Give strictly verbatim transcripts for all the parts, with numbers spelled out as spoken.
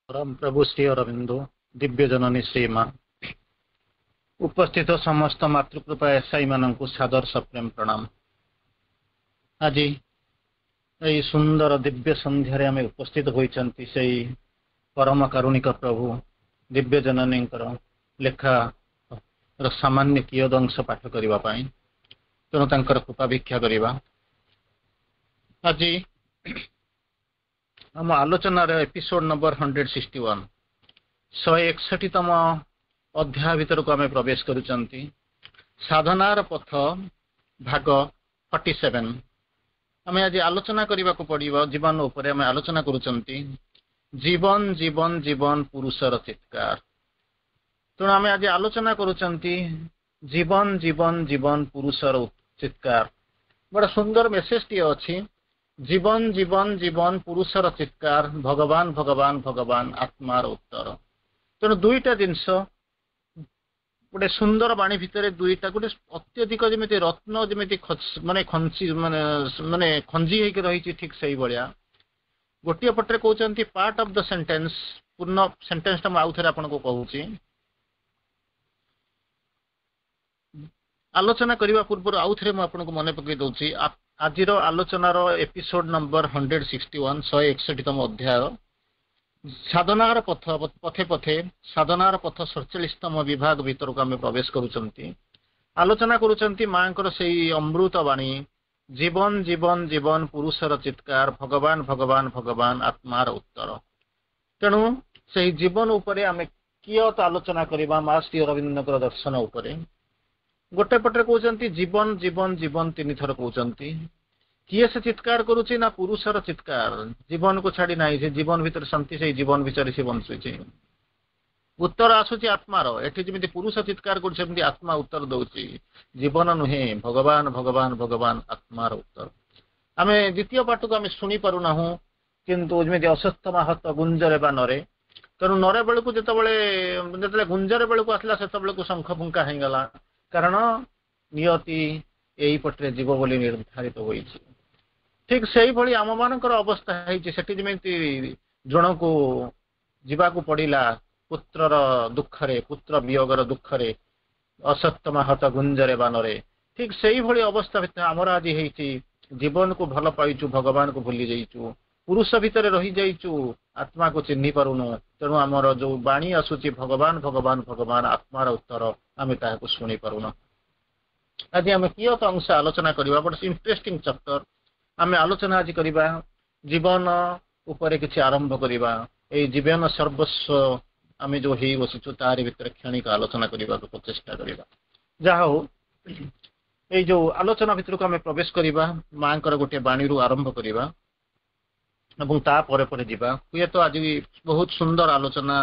ପରମ ପ୍ରଭୁ ଶ୍ରୀ ଅରବିନ୍ଦ, ଦିବ୍ୟ ଜନନୀ ଶ୍ରୀମା, ଉପସ୍ଥିତ ସମସ୍ତ ମାତୃକୃପା ଏସ୍ଆଇ ମାନଙ୍କୁ ସାଦର ସପ୍ରେମ ପ୍ରଣାମ। ଆଜି ଏଇ ସୁନ୍ଦର ଦିବ୍ୟ ସନ୍ଧ୍ୟାରେ ଆମେ ଉପସ୍ଥିତ ହୋଇଛନ୍ତି ସେଇ ପରମ କାରୁଣିକ ପ୍ରଭୁ ଦିବ୍ୟ ଜନନୀଙ୍କର ଲେଖା ର ସାମାନ୍ୟ କିୟଦଂଶ ପାଠ କରିବା ପାଇଁ। ତେଣୁ ତାଙ୍କର କୃପା ଭିକ୍ଷା କରିବା। ଆଜି ଆମ ଆଲୋଚନାର episode number hundred sixty one, ଶହେ ଏକଷଠିତମ ଅଧ୍ୟାୟ ଭିତରକୁ ଆମେ ପ୍ରବେଶ କରୁଛନ୍ତି, ସାଧନାର ପଥ ଭାଗ ଫର୍ଟି ସେଭେନ। ଆମେ ଆଜି ଆଲୋଚନା କରିବାକୁ ପଡିବ ଜୀବନ ଉପରେ। ଆମେ ଆଲୋଚନା କରୁଛନ୍ତି ଜୀବନ ଜୀବନ ଜୀବନ ପୁରୁଷର ଚିତ୍କାର। ତେଣୁ ଆମେ ଆଜି ଆଲୋଚନା କରୁଛନ୍ତି ଜୀବନ ଜୀବନ ଜୀବନ ପୁରୁଷର ଚିତ୍କାର। ବଡ ସୁନ୍ଦର ମେସେଜଟିଏ ଅଛି, ଜୀବନ ଜୀବନ ଜୀବନ ପୁରୁଷର ଚିତ୍କାର, ଭଗବାନ ଭଗବାନ ଭଗବାନ ଆତ୍ମାର ଉତ୍ତର। ତେଣୁ ଦୁଇଟା ଜିନିଷ ଗୋଟେ ସୁନ୍ଦର ବାଣୀ ଭିତରେ ଦୁଇଟା, ଗୋଟେ ଅତ୍ୟଧିକ ଯେମିତି ରତ୍ନ ଯେମିତି ମାନେ ଖଞ୍ଚି ମାନେ ମାନେ ଖଞ୍ଜି ହେଇକି ରହିଛି, ଠିକ ସେଇଭଳିଆ। ଗୋଟିଏ ପଟରେ କହୁଛନ୍ତି ପାର୍ଟ ଅଫ the sentence, ପୂର୍ଣ୍ଣ ସେଣ୍ଟେନ୍ସଟା ମୁଁ ଆଉଥରେ ଆପଣଙ୍କୁ କହୁଛି। ଆଲୋଚନା କରିବା ପୂର୍ବରୁ ଆଉଥରେ ମୁଁ ଆପଣଙ୍କୁ ମନେ ପକେଇ ଦଉଛି, ଆଜିର ଆଲୋଚନାର episode number hundred sixty one, ଶହେ ଏକଷଠିତମ ଅଧ୍ୟାୟ ସାଧନାର ପଥ, ପଥେ ପଥେ ସାଧନାର ପଥ ସଡ଼ଚାଳିଶତମ ବିଭାଗ ଭିତରକୁ ଆମେ ପ୍ରବେଶ କରୁଛନ୍ତି। ଆଲୋଚନା କରୁଛନ୍ତି ମାଙ୍କର ସେଇ ଅମୃତ ବାଣୀ, ଜୀବନ ଜୀବନ ଜୀବନ ପୁରୁଷର ଚିତ୍କାର, ଭଗବାନ ଭଗବାନ ଭଗବାନ ଆତ୍ମାର ଉତ୍ତର। ତେଣୁ ସେଇ ଜୀବନ ଉପରେ ଆମେ କିୟତ ଆଲୋଚନା କରିବା ମା ଶ୍ରୀ ଅରବିନ୍ଦଙ୍କର ଦର୍ଶନ ଉପରେ। ଗୋଟେ ପଟରେ କହୁଛନ୍ତି ଜୀବନ ଜୀବନ ଜୀବନ ତିନି ଥର କହୁଛନ୍ତି। କିଏ ସେ ଚିତ୍କାର କରୁଛି ନା ପୁରୁଷର ଚିତ୍କାର, ଜୀବନକୁ ଛାଡି ନାହିଁ, ସେ ଜୀବନ ଭିତରେ ଶାନ୍ତି, ସେଇ ଜୀବନ ଭିତରେ ସେ ବଞ୍ଚୁଛି। ଉତ୍ତର ଆସୁଛି ଆତ୍ମାର। ଏଠି ଯେମିତି ପୁରୁଷ ଚିତ୍କାର କରୁଛି ସେମିତି ଆତ୍ମା ଉତ୍ତର ଦଉଛି, ଜୀବନ ନୁହେଁ ଭଗବାନ ଭଗବାନ ଭଗବାନ ଆତ୍ମାର ଉତ୍ତର। ଆମେ ଦ୍ୱିତୀୟ ପାଠକୁ ଆମେ ଶୁଣି ପାରୁନାହୁଁ, କିନ୍ତୁ ଯେମିତି ଅସ୍ୱତ୍ଥମା ହତ ଗୁଞ୍ଜରେ ବା ନରେ, ତେଣୁ ନରେ ବେଳକୁ ଯେତେବେଳେ ଯେତେବେଳେ ଗୁଞ୍ଜରେ ବେଳକୁ ଆସିଲା ସେତେବେଳକୁ ଶଙ୍ଖ ଫୁଙ୍କା ହେଇଗଲା, କାରଣ ନିୟତି ଏଇପଟରେ ଯିବ ବୋଲି ନିର୍ଦ୍ଧାରିତ ହୋଇଛି। ଠିକ ସେଇଭଳି ଆମମାନଙ୍କର ଅବସ୍ଥା ହେଇଛି। ସେଠି ଯେମିତି ଦ୍ରୋଣକୁ ଯିବାକୁ ପଡିଲା ପୁତ୍ରର ଦୁଃଖରେ, ପୁତ୍ର ବିୟୋଗର ଦୁଃଖରେ, ଅସତ୍ୟମା ହତ ଗୁଞ୍ଜରେ ବାନରେ, ଠିକ ସେଇଭଳି ଅବସ୍ଥା ଭିତରେ ଆମର ଆଜି ହେଇଛି। ଜୀବନକୁ ଭଲ ପାଇଛୁ, ଭଗବାନକୁ ଭୁଲି ଯାଇଛୁ, ପୁରୁଷ ଭିତରେ ରହିଯାଇଛୁ, ଆତ୍ମାକୁ ଚିହ୍ନି ପାରୁନୁ। ତେଣୁ ଆମର ଯୋଉ ବାଣୀ ଆସୁଛି ଭଗବାନ ଭଗବାନ ଭଗବାନ ଆତ୍ମାର ଉତ୍ତର, ଆମେ ତାହାକୁ ଶୁଣି ପାରୁନୁ। ଆଜି ଆମେ କିୟତ ଅଂଶ ଆଲୋଚନା କରିବା, ବଟ ଇଣ୍ଟରେଷ୍ଟିଂ ଚାପ୍ଟର। ଆମେ ଆଲୋଚନା ଆଜି କରିବା ଜୀବନ ଉପରେ, କିଛି ଆରମ୍ଭ କରିବା। ଏଇ ଜୀବନ ସର୍ବସ୍ୱ ଆମେ ଯୋଉ ହେଇ ବସିଛୁ ତାରି ଭିତରେ କ୍ଷଣିକ ଆଲୋଚନା କରିବାକୁ ପ୍ରଚେଷ୍ଟା କରିବା। ଯାହା ହଉ, ଏଇ ଯୋଉ ଆଲୋଚନା ଭିତରକୁ ଆମେ ପ୍ରବେଶ କରିବା, ମାଙ୍କର ଗୋଟିଏ ବାଣୀରୁ ଆରମ୍ଭ କରିବା ଏବଂ ତାପରେ ପରେ ଯିବା। ହୁଏତ ଆଜି ବହୁତ ସୁନ୍ଦର ଆଲୋଚନା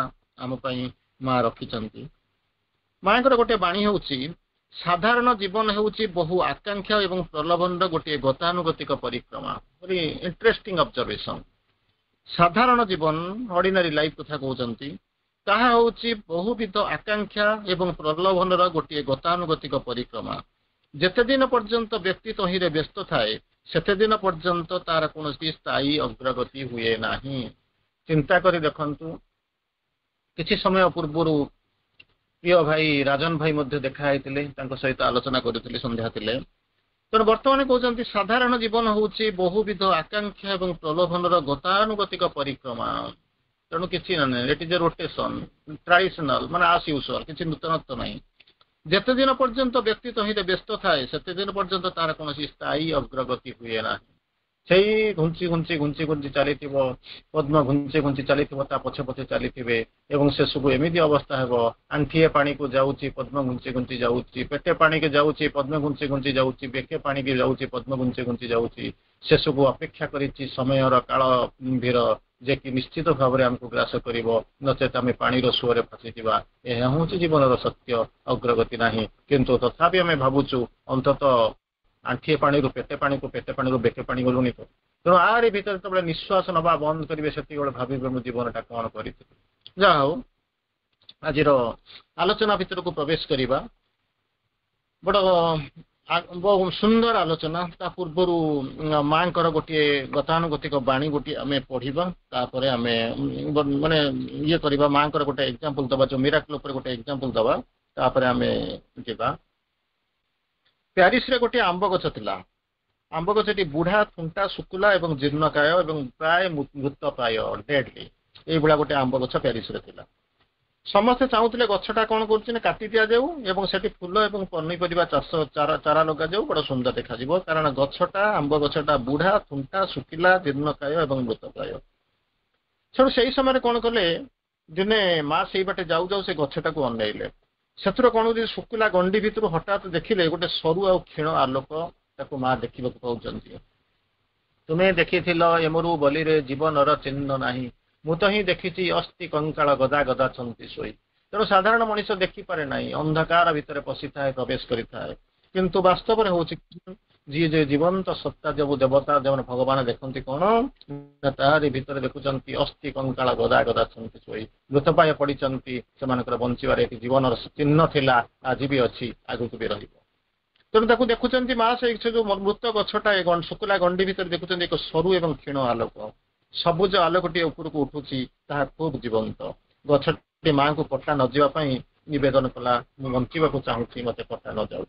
ଆମ ପାଇଁ ମା ରଖିଛନ୍ତି। ମାଙ୍କର ଗୋଟିଏ ବାଣୀ ହେଉଛି, ସାଧାରଣ ଜୀବନ ହେଉଛି ବହୁ ଆକାଂକ୍ଷା ଏବଂ ପ୍ରଲୋଭନର ଗୋଟିଏ ଗତାନୁଗତିକ ପରିକ୍ରମା। Very interesting observation. ସାଧାରଣ ଜୀବନ, ଅର୍ଡିନାରୀ ଲାଇଫ କଥା କହୁଛନ୍ତି, ତାହା ହେଉଛି ବହୁବିଧ ଆକାଂକ୍ଷା ଏବଂ ପ୍ରଲୋଭନର ଗୋଟିଏ ଗତାନୁଗତିକ ପରିକ୍ରମା। ଯେତେ ଦିନ ପର୍ଯ୍ୟନ୍ତ ବ୍ୟକ୍ତି ତହିଁରେ ବ୍ୟସ୍ତ ଥାଏ ସେତେ ଦିନ ପର୍ଯ୍ୟନ୍ତ ତାର କୌଣସି ସ୍ଥାୟୀ ଅଗ୍ରଗତି ହୁଏ ନାହିଁ। ଚିନ୍ତା କରି ଦେଖନ୍ତୁ, କିଛି ସମୟ ପୂର୍ବରୁ ପ୍ରିୟ ଭାଇ ରାଜନ ଭାଇ ମଧ୍ୟ ଦେଖା ହେଇଥିଲେ, ତାଙ୍କ ସହିତ ଆଲୋଚନା କରୁଥିଲି, ସନ୍ଧ୍ୟା ଥିଲେ। ତେଣୁ ବର୍ତ୍ତମାନ କହୁଛନ୍ତି ସାଧାରଣ ଜୀବନ ହେଉଛି ବହୁବିଧ ଆକାଂକ୍ଷା ଏବଂ ପ୍ରଲୋଭନର ଗତାନୁଗତିକ ପରିକ୍ରମା। ତେଣୁ କିଛି ନାହିଁ, it is a rotation, traditional ମାନେ ଆସ୍ ୟୁଜୁଆଲ, କିଛି ନୂତନତ୍ୱ ନାହିଁ। ଯେତେ ଦିନ ପର୍ଯ୍ୟନ୍ତ ବ୍ୟକ୍ତି ତହିଁରେ ବ୍ୟସ୍ତ ଥାଏ ସେତେ ଦିନ ପର୍ଯ୍ୟନ୍ତ ତାର କୌଣସି ସ୍ଥାୟୀ ଅଗ୍ରଗତି ହୁଏ ନାହିଁ। ସେଇ ଘୁଞ୍ଚି ଘୁଞ୍ଚି ଘୁଞ୍ଚି ଘୁଞ୍ଚି ଚାଲିଥିବ, ପଦ୍ମ ଘୁଞ୍ଚି ଘୁଞ୍ଚି ଚାଲିଥିବ, ତା ପଛେ ପଛେ ଚାଲିଥିବେ ଏବଂ ଶେଷକୁ ଏମିତି ଅବସ୍ଥା ହେବ, ଆଣ୍ଠିଏ ପାଣିକୁ ଯାଉଛି ପଦ୍ମ ଘୁଞ୍ଚି ଘୁଞ୍ଚି ଯାଉଛି, ପେଟେ ପାଣିକି ଯାଉଛି ପଦ୍ମ ଘୁଞ୍ଚି ଘୁଞ୍ଚି ଯାଉଛି, ବେକେ ପାଣିକି ଯାଉଛି ପଦ୍ମ ଘୁଞ୍ଚି ଘୁଞ୍ଚି ଯାଉଛି। ଶେଷକୁ ଅପେକ୍ଷା କରିଛି ସମୟର କାଳ କୁମ୍ଭୀର, ଯେ କି ନିଶ୍ଚିତ ଭାବରେ ଆମକୁ ଗ୍ରାସ କରିବ, ନଚେତ ଆମେ ପାଣିର ସୁଅରେ ଫସିଯିବା। ଏହା ହେଉଛି ଜୀବନର ସତ୍ୟ, ଅଗ୍ରଗତି ନାହିଁ। କିନ୍ତୁ ତଥାପି ଆମେ ଭାବୁଛୁ ଅନ୍ତତଃ ଆଣ୍ଠିଏ ପାଣିରୁ ପେଟେ ପାଣିକୁ, ପେଟେ ପାଣିରୁ ବେକେ ପାଣି ଗଲୁଣି ତ। ତେଣୁ ଆରି ଭିତରେ ଯେତେବେଳେ ନିଶ୍ୱାସ ନବା ବନ୍ଦ କରିବେ ସେତିକିବେଳେ ଭାବିବେ ମୁଁ ଜୀବନଟା କଣ କରିଥିଲି। ଯାହା ହଉ, ଆଜିର ଆଲୋଚନା ଭିତରକୁ ପ୍ରବେଶ କରିବା। ବଡ ବହୁ ସୁନ୍ଦର ଆଲୋଚନା। ତା ପୂର୍ବରୁ ମାଙ୍କର ଗୋଟିଏ ଗତାନୁଗତିକ ବାଣୀ ଗୋଟିଏ ଆମେ ପଢିବା, ତାପରେ ଆମେ ମାନେ ଇଏ କରିବା। ମାଙ୍କର ଗୋଟେ ଏକ୍ଜାମ୍ପଲ ଦବା, ଯୋଉ ମିରାକଲ ଉପରେ ଗୋଟେ ଏକ୍ଜାମ୍ପଲ ଦବା, ତାପରେ ଆମେ ଯିବା। ପ୍ୟାରିସରେ ଗୋଟିଏ ଆମ୍ବ ଗଛ ଥିଲା। ଆମ୍ବ ଗଛଟି ବୁଢା, ଥୁଣ୍ଟା, ଶୁକୁଲା ଏବଂ ଜୀର୍ଣ୍ଣକାୟ ଏବଂ ପ୍ରାୟ ମୃତ ପ୍ରାୟ, ଡେଡଲି। ଏଇଭଳିଆ ଗୋଟେ ଆମ୍ବ ଗଛ ପ୍ୟାରିସରେ ଥିଲା। ସମସ୍ତେ ଚାହୁଁଥିଲେ ଗଛଟା କଣ କରୁଛି ନା କାଟି ଦିଆଯାଉ ଏବଂ ସେଠି ଫୁଲ ଏବଂ ପନିପରିବା ଚାଷ, ଚାରା ଚାରା ଲଗାଯାଉ, ବଡ ସୁନ୍ଦର ଦେଖାଯିବ। କାରଣ ଗଛଟା, ଆମ୍ବ ଗଛଟା ବୁଢା, ଥୁଣ୍ଟା, ଶୁଖିଲା, ଜୀର୍ଣ୍ଣକାୟ ଏବଂ ମୃତପ୍ରାୟ। ସେଠୁ ସେଇ ସମୟରେ କଣ କଲେ, ଦିନେ ମା ସେଇ ବାଟେ ଯାଉ ଯାଉ ସେ ଗଛଟାକୁ ଅନେଇଲେ। ସେଥିରୁ କଣ ହଉଛି, ଶୁଖିଲା ଗଣ୍ଡି ଭିତରୁ ହଠାତ୍ ଦେଖିଲେ ଗୋଟେ ସରୁ ଆଉ କ୍ଷୀଣ ଆଲୋକ। ତାକୁ ମା ଦେଖିବାକୁ ପାଉଛନ୍ତି। ତୁମେ ଦେଖିଥିଲ ଏମରୁ ବଲିରେ ଜୀବନର ଚିହ୍ନ ନାହିଁ, ମୁଁ ତ ହିଁ ଦେଖିଛି ଅସ୍ଥି କଙ୍କାଳ ଗଦା ଗଦା ଛନ୍ତି ଶୋଇ। ତେଣୁ ସାଧାରଣ ମଣିଷ ଦେଖିପାରେ ନାହିଁ, ଅନ୍ଧକାର ଭିତରେ ପଶିଥାଏ, ପ୍ରବେଶ କରିଥାଏ। କିନ୍ତୁ ବାସ୍ତବରେ ହଉଛି ଯିଏ ଯେ ଜୀବନ୍ତ ସତ୍ତା, ଯୋଉ ଦେବତା, ଯେଉଁମାନେ ଭଗବାନ ଦେଖନ୍ତି କଣ ନା ତାହାରି ଭିତରେ ଦେଖୁଛନ୍ତି ଅସ୍ଥି କଙ୍କାଳ ଗଦା ଗଦା ଛନ୍ତି ଶୋଇ, ମୃତପ୍ରାୟ ପଡିଛନ୍ତି। ସେମାନଙ୍କର ବଞ୍ଚିବାରେ ଏଠି ଜୀବନର ଚିହ୍ନ ଥିଲା, ଆଜି ବି ଅଛି, ଆଗକୁ ବି ରହିବ। ତେଣୁ ତାକୁ ଦେଖୁଛନ୍ତି ମା, ସେ ଯୋଉ ମୃତ ଗଛଟା ଶୁଖିଲା ଗଣ୍ଡି ଭିତରେ ଦେଖୁଛନ୍ତି ଏକ ସରୁ ଏବଂ କ୍ଷୀଣ ଆଲୋକ, ସବୁଜ ଆଲୋକଟିଏ ଉପରକୁ ଉଠୁଛି, ତାହା ଖୁବ ଜୀବନ୍ତ। ଗଛଟି ମାଙ୍କୁ କଟା ନ ଯିବା ପାଇଁ ନିବେଦନ କଲା, ମୁଁ ବଞ୍ଚିବାକୁ ଚାହୁଁଛି, ମତେ କଟା ନ ଯାଉ।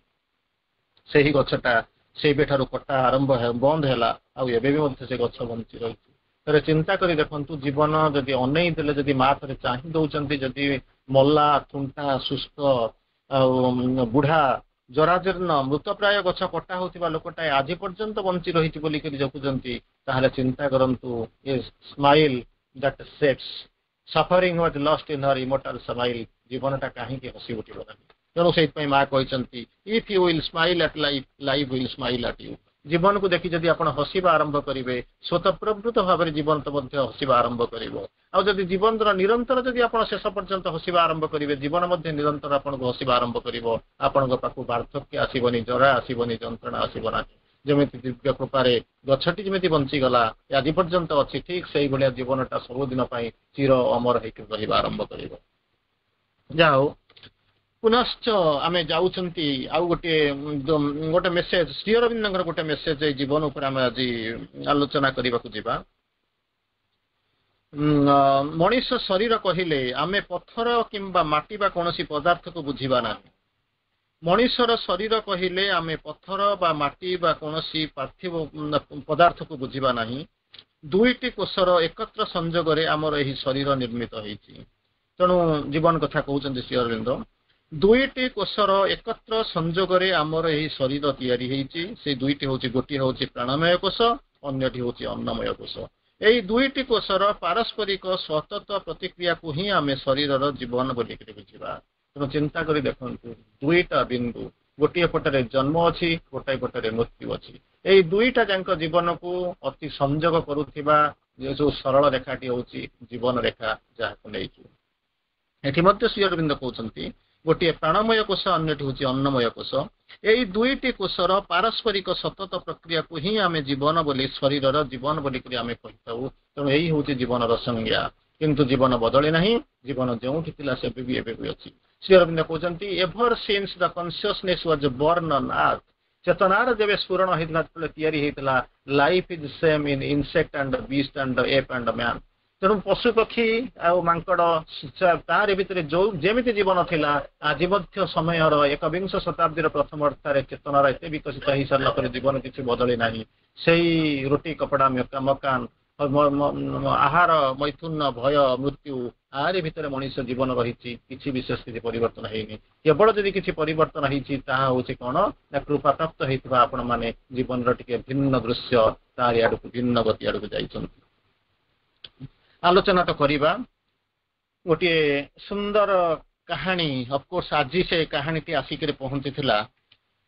ସେହି ଗଛଟା ସେଇବେଠାରୁ କଟା ଆରମ୍ଭ ବନ୍ଦ ହେଲା, ଆଉ ଏବେ ବି ମଧ୍ୟ ସେ ଗଛ ବଞ୍ଚି ରହିଛି। ଥରେ ଚିନ୍ତା କରି ଦେଖନ୍ତୁ, ଜୀବନ ଯଦି ଅନେଇ ଦେଲେ, ଯଦି ମା ଥରେ ଚାହିଁ ଦଉଛନ୍ତି, ଯଦି ମଲା, ଥୁଣ୍ଟା, ଶୁଷ୍କ ଆଉ ବୁଢା, ଜରାଜୀର୍ଣ୍ଣ, ମୃତପ୍ରାୟ ଗଛ କଟା ହଉଥିବା ଲୋକଟା ଆଜି ପର୍ଯ୍ୟନ୍ତ ବଞ୍ଚି ରହିଛି ବୋଲିକରି ଦେଖୁଛନ୍ତି, ତାହେଲେ ଚିନ୍ତା କରନ୍ତୁ, a smile that saves suffering was lost in her immortal smile। ଜୀବନଟା କାହିଁକି ହସି ଉଠିବ ନାହିଁ? ତେଣୁ ସେଇଥିପାଇଁ ମା କହିଛନ୍ତି, if you will smile at life, life will smile at you। ଜୀବନକୁ ଦେଖି ଯଦି ଆପଣ ହସିବା ଆରମ୍ଭ କରିବେ, ସ୍ୱତଃପ୍ରବୃତ୍ତ ଭାବରେ ଜୀବନ ତ ମଧ୍ୟ ହସିବା ଆରମ୍ଭ କରିବ। ଆଉ ଯଦି ଜୀବନର ନିରନ୍ତର ଯଦି ଆପଣ ଶେଷ ପର୍ଯ୍ୟନ୍ତ ହସିବା ଆରମ୍ଭ କରିବେ, ଜୀବନ ମଧ୍ୟ ନିରନ୍ତର ଆପଣଙ୍କୁ ହସିବା ଆରମ୍ଭ କରିବ। ଆପଣଙ୍କ ପାଖକୁ ବାର୍ଦ୍ଧକ୍ୟ ଆସିବନି, ଜରା ଆସିବନି, ଯନ୍ତ୍ରଣା ଆସିବ ନାହିଁ। ଯେମିତି ଦିବ୍ୟ କୃପାରେ ଗଛଟି ଯେମିତି ବଞ୍ଚିଗଲା, ଆଜି ପର୍ଯ୍ୟନ୍ତ ଅଛି, ଠିକ ସେଇଭଳିଆ ଜୀବନଟା ସବୁଦିନ ପାଇଁ ଚିର ଅମର ହେଇକି ରହିବା ଆରମ୍ଭ କରିବ। ଯାହା ହଉ, ପୁନଶ୍ଚ ଆମେ ଯାଉଛନ୍ତି ଆଉ ଗୋଟିଏ ଗୋଟେ ମେସେଜ, ଶ୍ରୀ ଅରବିନ୍ଦଙ୍କର ଗୋଟେ ମେସେଜ ଏଇ ଜୀବନ ଉପରେ ଆମେ ଆଜି ଆଲୋଚନା କରିବାକୁ ଯିବା। ମଣିଷ ଶରୀର କହିଲେ ଆମେ ପଥର କିମ୍ବା ମାଟି ବା କୌଣସି ପଦାର୍ଥକୁ ବୁଝିବା ନାହିଁ। ମଣିଷର ଶରୀର କହିଲେ ଆମେ ପଥର ବା ମାଟି ବା କୌଣସି ପାର୍ଥିବ ପଦାର୍ଥକୁ ବୁଝିବା ନାହିଁ। ଦୁଇଟି କୋଷର ଏକତ୍ର ସଂଯୋଗରେ ଆମର ଏହି ଶରୀର ନିର୍ମିତ ହେଇଛି। ତେଣୁ ଜୀବନ କଥା କହୁଛନ୍ତି ଶ୍ରୀ ଅରବିନ୍ଦ। ଦୁଇଟି କୋଷର ଏକତ୍ର ସଂଯୋଗରେ ଆମର ଏହି ଶରୀର ତିଆରି ହେଇଛି। ସେଇ ଦୁଇଟି ହଉଛି, ଗୋଟିଏ ହଉଛି ପ୍ରାଣମୟ କୋଷ, ଅନ୍ୟଟି ହଉଛି ଅନ୍ନମୟ କୋଷ। ଏଇ ଦୁଇଟି କୋଷର ପାରସ୍ପରିକ ସତତ ପ୍ରତିକ୍ରିୟାକୁ ହିଁ ଆମେ ଶରୀରର ଜୀବନ ବୋଲିକରି ବୁଝିବା। ତେଣୁ ଚିନ୍ତା କରି ଦେଖନ୍ତୁ, ଦୁଇଟା ବିନ୍ଦୁ, ଗୋଟିଏ ପଟରେ ଜନ୍ମ ଅଛି, ଗୋଟାଏ ପଟରେ ମୃତ୍ୟୁ ଅଛି। ଏଇ ଦୁଇଟା ଯାକ ଜୀବନକୁ ଅତି ସଂଯୋଗ କରୁଥିବା ଯୋଉ ସରଳ ରେଖାଟି ହଉଛି ଜୀବନ ରେଖା, ଯାହାକୁ ନେଇଛୁ। ଏଠି ମଧ୍ୟ ଶ୍ରୀ ଅରବିନ୍ଦ କହୁଛନ୍ତି, ଗୋଟିଏ ପ୍ରାଣମୟ କୋଷ, ଅନ୍ୟଟି ହଉଛି ଅନ୍ନମୟ କୋଷ। ଏଇ ଦୁଇଟି କୋଷର ପାରସ୍ପରିକ ସତତ ପ୍ରକ୍ରିୟାକୁ ହିଁ ଆମେ ଜୀବନ ବୋଲି, ଶରୀରର ଜୀବନ ବୋଲିକରି ଆମେ କହିଥାଉ। ତେଣୁ ଏଇ ହଉଛି ଜୀବନର ସଂଜ୍ଞା। କିନ୍ତୁ ଜୀବନ ବଦଳି ନାହିଁ, ଜୀବନ ଯେଉଁଠି ଥିଲା ସେବେ ବି ଏବେ ବି ଅଛି। ଶ୍ରୀ ଅରବିନ୍ଦ କହୁଛନ୍ତି, ever since the consciousness was born on earth, ଚେତନାର ଯେବେ ସ୍ଫୁରଣ ହେଇଥିଲା, ଯେତେବେଳେ ତିଆରି ହେଇଥିଲା, life is same in insect and beast and ape and man। ତେଣୁ ପଶୁ ପକ୍ଷୀ ଆଉ ମାଙ୍କଡ, ତାରି ଭିତରେ ଯୋଉ ଯେମିତି ଜୀବନ ଥିଲା, ଆଜି ମଧ୍ୟ ସମୟର ଏକବିଂଶ ଶତାବ୍ଦୀର ପ୍ରଥମ ଅର୍ଥାରେ ଚେତନାର ଏତେ ବିକଶିତ ହେଇସାରିଲା ପରେ ଜୀବନ କିଛି ବଦଳି ନାହିଁ। ସେଇ ରୁଟି, କପଡା, ମକାନ, ଆହାର, ମୈଥୁନ, ଭୟ, ମୃତ୍ୟୁ, ଆରି ଭିତରେ ମଣିଷ ଜୀବନ ରହିଛି। କିଛି ବିଶେଷ କିଛି ପରିବର୍ତ୍ତନ ହେଇନି। କେବଳ ଯଦି କିଛି ପରିବର୍ତ୍ତନ ହେଇଛି, ତାହା ହଉଛି କଣ ନା କୃପା ପ୍ରାପ୍ତ ହେଇଥିବା ଆପଣ ମାନେ ଜୀବନର ଟିକେ ଭିନ୍ନ ଦୃଶ୍ୟ, ତାରି ଆଡକୁ, ଭିନ୍ନ ଗତି ଆଡକୁ ଯାଇଛନ୍ତି। ଆଲୋଚନା ତ କରିବା ଗୋଟିଏ ସୁନ୍ଦର କାହାଣୀ। ଅଫକୋର୍ସ ଆଜି ସେ କାହାଣୀଟି ଆସିକରି ପହଞ୍ଚିଥିଲା,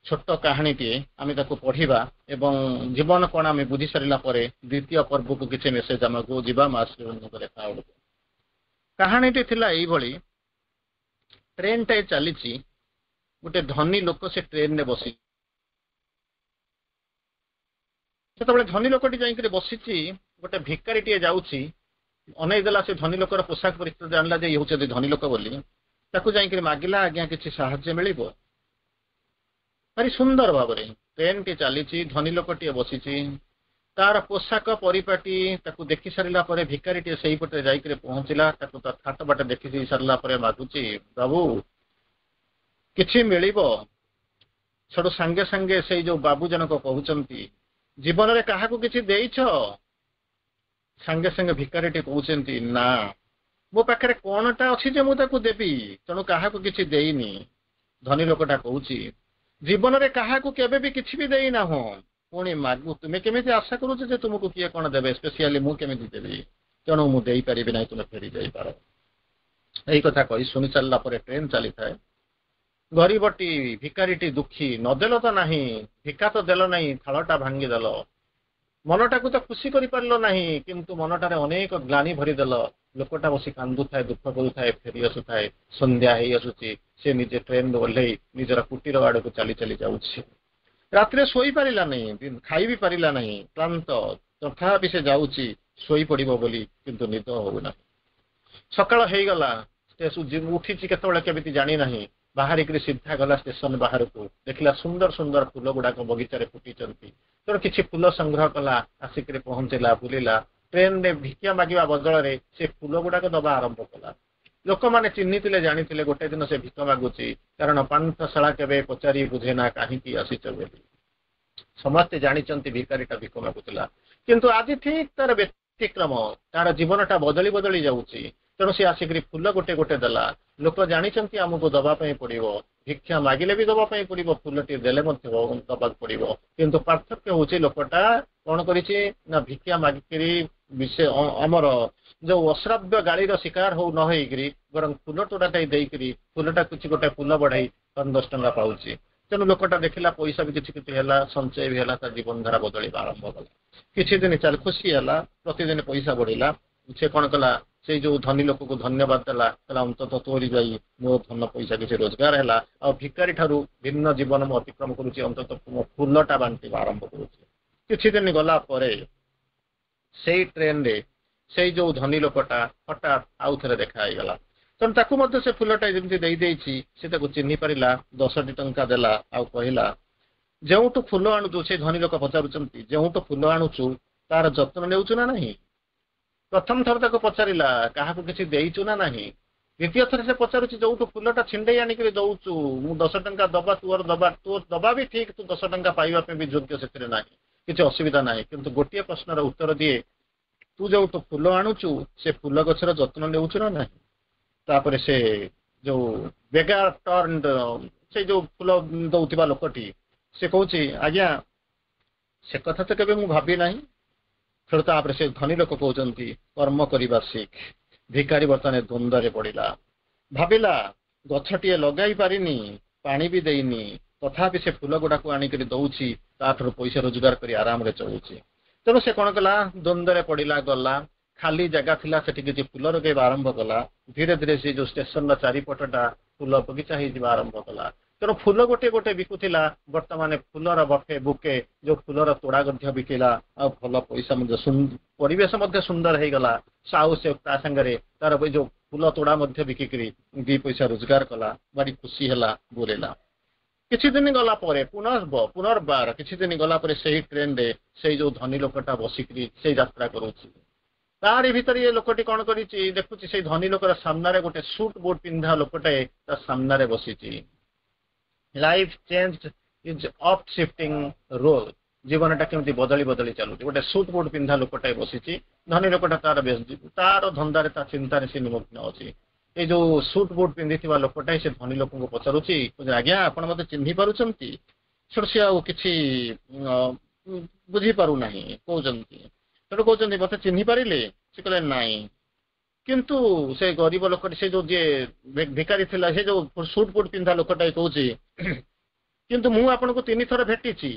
ଛୋଟ କାହାଣୀଟିଏ। ଆମେ ତାକୁ ପଢିବା ଏବଂ ଜୀବନ କଣ ଆମେ ବୁଝି ସାରିଲା ପରେ ଦ୍ୱିତୀୟ ପର୍ବକୁ କିଛି ମେସେଜ ଆମକୁ ଯିବା ମା ଶ୍ରୀଅରବିନ୍ଦଙ୍କ ଲେଖା ବେଳକୁ। କାହାଣୀଟି ଥିଲା ଏଇଭଳି। ଟ୍ରେନଟାଏ ଚାଲିଛି। ଗୋଟେ ଧନୀ ଲୋକ ସେ ଟ୍ରେନରେ ବସି, ସେତେବେଳେ ଧନୀ ଲୋକଟି ଯାଇକରି ବସିଛି, ଗୋଟେ ଭିକାରୀଟିଏ ଯାଉଛି, ଅନେଇ ଦେଲା। ସେ ଧନୀ ଲୋକର ପୋଷାକ ପରିସ୍ଥିତି ଜାଣିଲା ଯେ ଇଏ ହଉଛନ୍ତି ଧନୀ ଲୋକ ବୋଲି। ତାକୁ ଯାଇକରି ମାଗିଲା, ଆଜ୍ଞା, କିଛି ସାହାଯ୍ୟ ମିଳିବ? ଭାରି ସୁନ୍ଦର ଭାବରେ ଟ୍ରେନଟି ଚାଲିଛି, ଧନୀ ଲୋକଟିଏ ବସିଛି। ତାର ପୋଷାକ ପରିପାଟି ତାକୁ ଦେଖି ସାରିଲା ପରେ ଭିକାରୀଟିଏ ସେଇପଟେ ଯାଇକରି ପହଞ୍ଚିଲା। ତାକୁ ତା ଥାଟ ବାଟ ଦେଖି ଦେଇ ସାରିଲା ପରେ ମାଗୁଛି, ବାବୁ, କିଛି ମିଳିବ? ସେଠୁ ସାଙ୍ଗେ ସାଙ୍ଗେ ସେଇ ଯୋଉ ବାବୁ ଜଣକ କହୁଛନ୍ତି, ଜୀବନରେ କାହାକୁ କିଛି ଦେଇଛ? ସାଙ୍ଗେ ସାଙ୍ଗେ ଭିକାରୀଟି କହୁଛନ୍ତି, ନା, ମୋ ପାଖରେ କଣଟା ଅଛି ଯେ ମୁଁ ତାକୁ ଦେବି? ତେଣୁ କାହାକୁ କିଛି ଦେଇନି। ଧନୀ ଲୋକଟା କହୁଛି, ଜୀବନରେ କାହାକୁ କେବେ ବି କିଛି ବି ଦେଇନାହୁଁ, ପୁଣି ମାଗୁ, ତୁମେ କେମିତି ଆଶା କରୁଛ ଯେ ତୁମକୁ କିଏ କଣ ଦେବେ? ସ୍ପେସିଆଲି ମୁଁ କେମିତି ଦେବି? ତେଣୁ ମୁଁ ଦେଇପାରିବି ନାହିଁ, ତୁମେ ଫେରି ଯାଇପାର। ଏଇ କଥା କହି ଶୁଣି ସାରିଲା ପରେ ଟ୍ରେନ ଚାଲିଥାଏ। ଗରିବଟି ଭିକାରୀଟି ଦୁଃଖୀ, ନଦେଲ ତ ନାହିଁ, ଭିକା ତ ଦେଲ ନାହିଁ, ଥାଳଟା ଭାଙ୍ଗିଦେଲ, ମନଟାକୁ ତ ଖୁସି କରିପାରିଲ ନାହିଁ, କିନ୍ତୁ ମନଟାରେ ଅନେକ ଗ୍ଲାନି ଭରିଦେଲ। ଲୋକଟା ବସି କାନ୍ଦୁଥାଏ, ଦୁଃଖ କରୁଥାଏ, ଫେରି ଆସୁଥାଏ। ସନ୍ଧ୍ୟା ହେଇ ଆସୁଛି। ସେ ନିଜେ ଟ୍ରେନରୁ ଓହ୍ଲେଇ ନିଜର କୁଟୀର ଆଡକୁ ଚାଲି ଚାଲି ଯାଉଛି। ରାତିରେ ଶୋଇପାରିଲା ନାହିଁ, ଖାଇ ବି ପାରିଲା ନାହିଁ, କ୍ଳାନ୍ତ। ତଥାପି ସେ ଯାଉଛି ଶୋଇପଡିବ ବୋଲି, କିନ୍ତୁ ନିଦ ହଉନାହିଁ। ସକାଳ ହେଇଗଲା। ଉଠିଛି କେତେବେଳେ କେମିତି ଜାଣିନାହିଁ। ବାହାରିକିରି ସିଧା ଗଲା ଷ୍ଟେସନ ବାହାରକୁ। ଦେଖିଲା ସୁନ୍ଦର ସୁନ୍ଦର ଫୁଲ ଗୁଡାକ ବଗିଚାରେ ଫୁଟିଛନ୍ତି। ତେଣୁ କିଛି ଫୁଲ ସଂଗ୍ରହ କଲା, ଆସିକିରି ପହଞ୍ଚିଲା, ବୁଲିଲା। ଟ୍ରେନରେ ଭିକ୍ଷା ମାଗିବା ବଦଳରେ ସେ ଫୁଲ ଗୁଡାକ ଦବା ଆରମ୍ଭ କଲା। ଲୋକମାନେ ଚିହ୍ନିଥିଲେ, ଜାଣିଥିଲେ ଗୋଟେ ଦିନ ସେ ଭିକ ମାଗୁଛି। କାରଣ ପାନ୍ଥଶାଳା କେବେ ପଚାରି ବୁଝେ ନା କାହିଁକି ଆସିଛ ବୋଲି। ସମସ୍ତେ ଜାଣିଛନ୍ତି ଭିକାରୀଟା ଭିକ ମାଗୁଥିଲା। କିନ୍ତୁ ଆଜି ଠିକ ତାର ବ୍ୟତିକ୍ରମ, ତାର ଜୀବନଟା ବଦଳି ବଦଳି ଯାଉଛି। ତେଣୁ ସେ ଆସିକିରି ଫୁଲ ଗୋଟେ ଗୋଟେ ଦେଲା। ଲୋକ ଜାଣିଛନ୍ତି ଆମକୁ ଦବା ପାଇଁ ପଡିବ, ଭିକ୍ଷା ମାଗିଲେ ବି ଦବା ପାଇଁ ପଡିବ, ଫୁଲଟି ଦେଲେ ମଧ୍ୟ ଦବାକୁ ପଡିବ। କିନ୍ତୁ ପାର୍ଥକ୍ୟ ହଉଛି ଲୋକଟା କଣ କରିଛି ନା ଭିକ୍ଷା ମାଗିକିରି ଆମର ଯୋଉ ଅଶ୍ରାବ୍ୟ ଗାଳିର ଶିକାର ହଉ ନ ହେଇକିରି ବରଂ ଫୁଲ ତୋଡ଼ାଟାଇ ଦେଇକିରି ଫୁଲଟା କିଛି ଗୋଟେ ଫୁଲ ବଢେଇ ଦଶ ଟଙ୍କା ପାଉଛି। ତେଣୁ ଲୋକଟା ଦେଖିଲା ପଇସା ବି କିଛି କିଛି ହେଲା, ସଞ୍ଚୟ ବି ହେଲା, ତା ଜୀବନ ଧାରା ବଦଳିବା ଆରମ୍ଭ କଲା। କିଛି ଦିନ ଚାଲି ଖୁସି ହେଲା, ପ୍ରତିଦିନ ପଇସା ବଢିଲା। ସେ କଣ କଲା, ସେଇ ଯୋଉ ଧନୀ ଲୋକକୁ ଧନ୍ୟବାଦ ଦେଲା। କହିଲା, ଅନ୍ତତଃ ତୋରି ଯାଇ ମୋ ଧନ ପଇସା କିଛି ରୋଜଗାର ହେଲା, ଆଉ ଭିକାରୀ ଠାରୁ ଭିନ୍ନ ଜୀବନ ମୁଁ ଅତିକ୍ରମ କରୁଛି, ଅନ୍ତତଃ ମୋ ଫୁଲଟା ବାଣ୍ଟିବା ଆରମ୍ଭ କରୁଛି। କିଛି ଦିନ ଗଲା ପରେ ସେଇ ଟ୍ରେନରେ ସେଇ ଯୋଉ ଧନୀ ଲୋକଟା ହଠାତ୍ ଆଉ ଥରେ ଦେଖା ହେଇଗଲା। ତେଣୁ ତାକୁ ମଧ୍ୟ ସେ ଫୁଲଟା ଯେମିତି ଦେଇଦେଇଛି, ସେ ତାକୁ ଚିହ୍ନି ପାରିଲା, ଦଶଟି ଟଙ୍କା ଦେଲା ଆଉ କହିଲା, ଯେଉଁଠୁ ଫୁଲ ଆଣୁଛୁ, ସେ ଧନୀ ଲୋକ ପଚାରୁଛନ୍ତି, ଯେଉଁଠୁ ଫୁଲ ଆଣୁଛୁ ତାର ଯତ୍ନ ନେଉଛୁ ନା ନାହିଁ? ପ୍ରଥମ ଥର ତାକୁ ପଚାରିଲା, କାହାକୁ କିଛି ଦେଇଛୁ ନା ନାହିଁ? ଦ୍ୱିତୀୟ ଥର ସେ ପଚାରୁଛି, ଯୋଉଠୁ ଫୁଲଟା ଛିଣ୍ଡେଇ ଆଣିକିରି ଦଉଛୁ, ମୁଁ ଦଶ ଟଙ୍କା ଦବା, ତୋର ଦବା ତୋର ଦବା ବି ଠିକ, ତୁ ଦଶ ଟଙ୍କା ପାଇବା ପାଇଁ ବି ଯୋଗ୍ୟ, ସେଥିରେ ନାହିଁ କିଛି ଅସୁବିଧା ନାହିଁ। କିନ୍ତୁ ଗୋଟିଏ ପ୍ରଶ୍ନର ଉତ୍ତର ଦିଏ, ତୁ ଯୋଉଠୁ ଫୁଲ ଆଣୁଛୁ ସେ ଫୁଲ ଗଛର ଯତ୍ନ ନେଉଛୁ ନା ନାହିଁ? ତାପରେ ସେ ଯୋଉ ବେଗାର ଟର୍ନ, ସେ ଯୋଉ ଫୁଲ ଦଉଥିବା ଲୋକଟି, ସେ କହୁଛି, ଆଜ୍ଞା, ସେ କଥା ତ କେବେ ମୁଁ ଭାବି ନାହିଁ। ସେଠୁ ତାପରେ ସେ ଧନୀ ଲୋକ କହୁଛନ୍ତି, କର୍ମ କରିବା ଶିଖ। ଭିକାରୀ ବର୍ତ୍ତମାନ ଦ୍ୱନ୍ଦ୍ୱରେ ପଡିଲା। ଭାବିଲା, ଗଛଟିଏ ଲଗାଇ ପାରିନି, ପାଣି ବି ଦେଇନି, ତଥାପି ସେ ଫୁଲ ଗୁଡାକୁ ଆଣିକରି ଦଉଛି, ତାଠାରୁ ପଇସା ରୋଜଗାର କରି ଆରାମରେ ଚଳୁଛି। ତେଣୁ ସେ କଣ କଲା, ଦ୍ୱନ୍ଦ୍ୱରେ ପଡିଲା, ଗଲା, ଖାଲି ଜାଗା ଥିଲା, ସେଠି କିଛି ଫୁଲ ଲଗେଇବା ଆରମ୍ଭ କଲା। ଧୀରେ ଧୀରେ ସେ ଯୋଉ ଷ୍ଟେସନର ଚାରିପଟଟା ଫୁଲ ବଗିଚା ହେଇଯିବା ଆରମ୍ଭ କଲା। ତେଣୁ ଫୁଲ ଗୋଟେ ଗୋଟେ ବିକୁଥିଲା, ବର୍ତ୍ତମାନ ଫୁଲର ବଫେ ବୁକେ, ଯୋଉ ଫୁଲର ତୋଡ଼ା ମଧ୍ୟ ବିକିଲା, ଆଉ ଭଲ ପଇସା ମଧ୍ୟ, ପରିବେଶ ମଧ୍ୟ ସୁନ୍ଦର ହେଇଗଲା। ଆଉ ସେ ତା ସାଙ୍ଗରେ ତାର ଯୋଉ ଫୁଲ ତୋଡ଼ା ମଧ୍ୟ ବିକିକିରି ଦି ପଇସା ରୋଜଗାର କଲା, ଭାରି ଖୁସି ହେଲା, ବୁଲିଲା। କିଛି ଦିନ ଗଲା ପରେ ପୁନର୍ବ ପୁନର୍ବାର କିଛି ଦିନ ଗଲା ପରେ ସେଇ ଟ୍ରେନରେ ସେଇ ଯୋଉ ଧନୀ ଲୋକଟା ବସିକିରି ସେଇ ଯାତ୍ରା କରୁଛି। ତାରି ଭିତରେ ଏ ଲୋକଟି କଣ କରିଛି, ଦେଖୁଛି ସେଇ ଧନୀ ଲୋକର ସାମ୍ନାରେ ଗୋଟେ ସୁଟ୍ ବୁଟ୍ ପିନ୍ଧା ଲୋକଟେ ତା ସାମ୍ନାରେ ବସିଛି। Life change is oft shifting role. ଜୀବନଟା କେମିତି ବଦଳି ବଦଳି ଚାଲୁଛି। ଗୋଟେ ସୁଟ୍ ବୁଟ୍ ପିନ୍ଧା ଲୋକଟାଏ ବସିଛି, ଧନୀ ଲୋକଟା ତାର ତାର ଧନ୍ଦାରେ, ତା ଚିନ୍ତାରେ ସେ ନିମଗ୍ନ ଅଛି। ଏଇ ଯୋଉ ସୁଟ୍ ବୁଟ୍ ପିନ୍ଧିଥିବା ଲୋକଟା ସେ ଧନୀ ଲୋକଙ୍କୁ ପଚାରୁଛି, ଆଜ୍ଞା, ଆପଣ ମତେ ଚିହ୍ନି ପାରୁଛନ୍ତି? ସେଠୁ ସେ ଆଉ କିଛି ବୁଝିପାରୁନାହିଁ କହୁଛନ୍ତି। ସେଠୁ କହୁଛନ୍ତି, ମତେ ଚିହ୍ନି ପାରିଲେ? ସେ କହିଲେ, ନାଇଁ। କିନ୍ତୁ ସେ ଗରିବ ଲୋକଟି, ସେ ଯୋଉ ଯିଏ ଭିକାରୀ ଥିଲା, ସେ ଯୋଉ ସୁଟ୍ ବୁଟ୍ ପିନ୍ଧା ଲୋକଟା କହୁଛି, କିନ୍ତୁ ମୁଁ ଆପଣଙ୍କୁ ତିନି ଥର ଭେଟିଛି।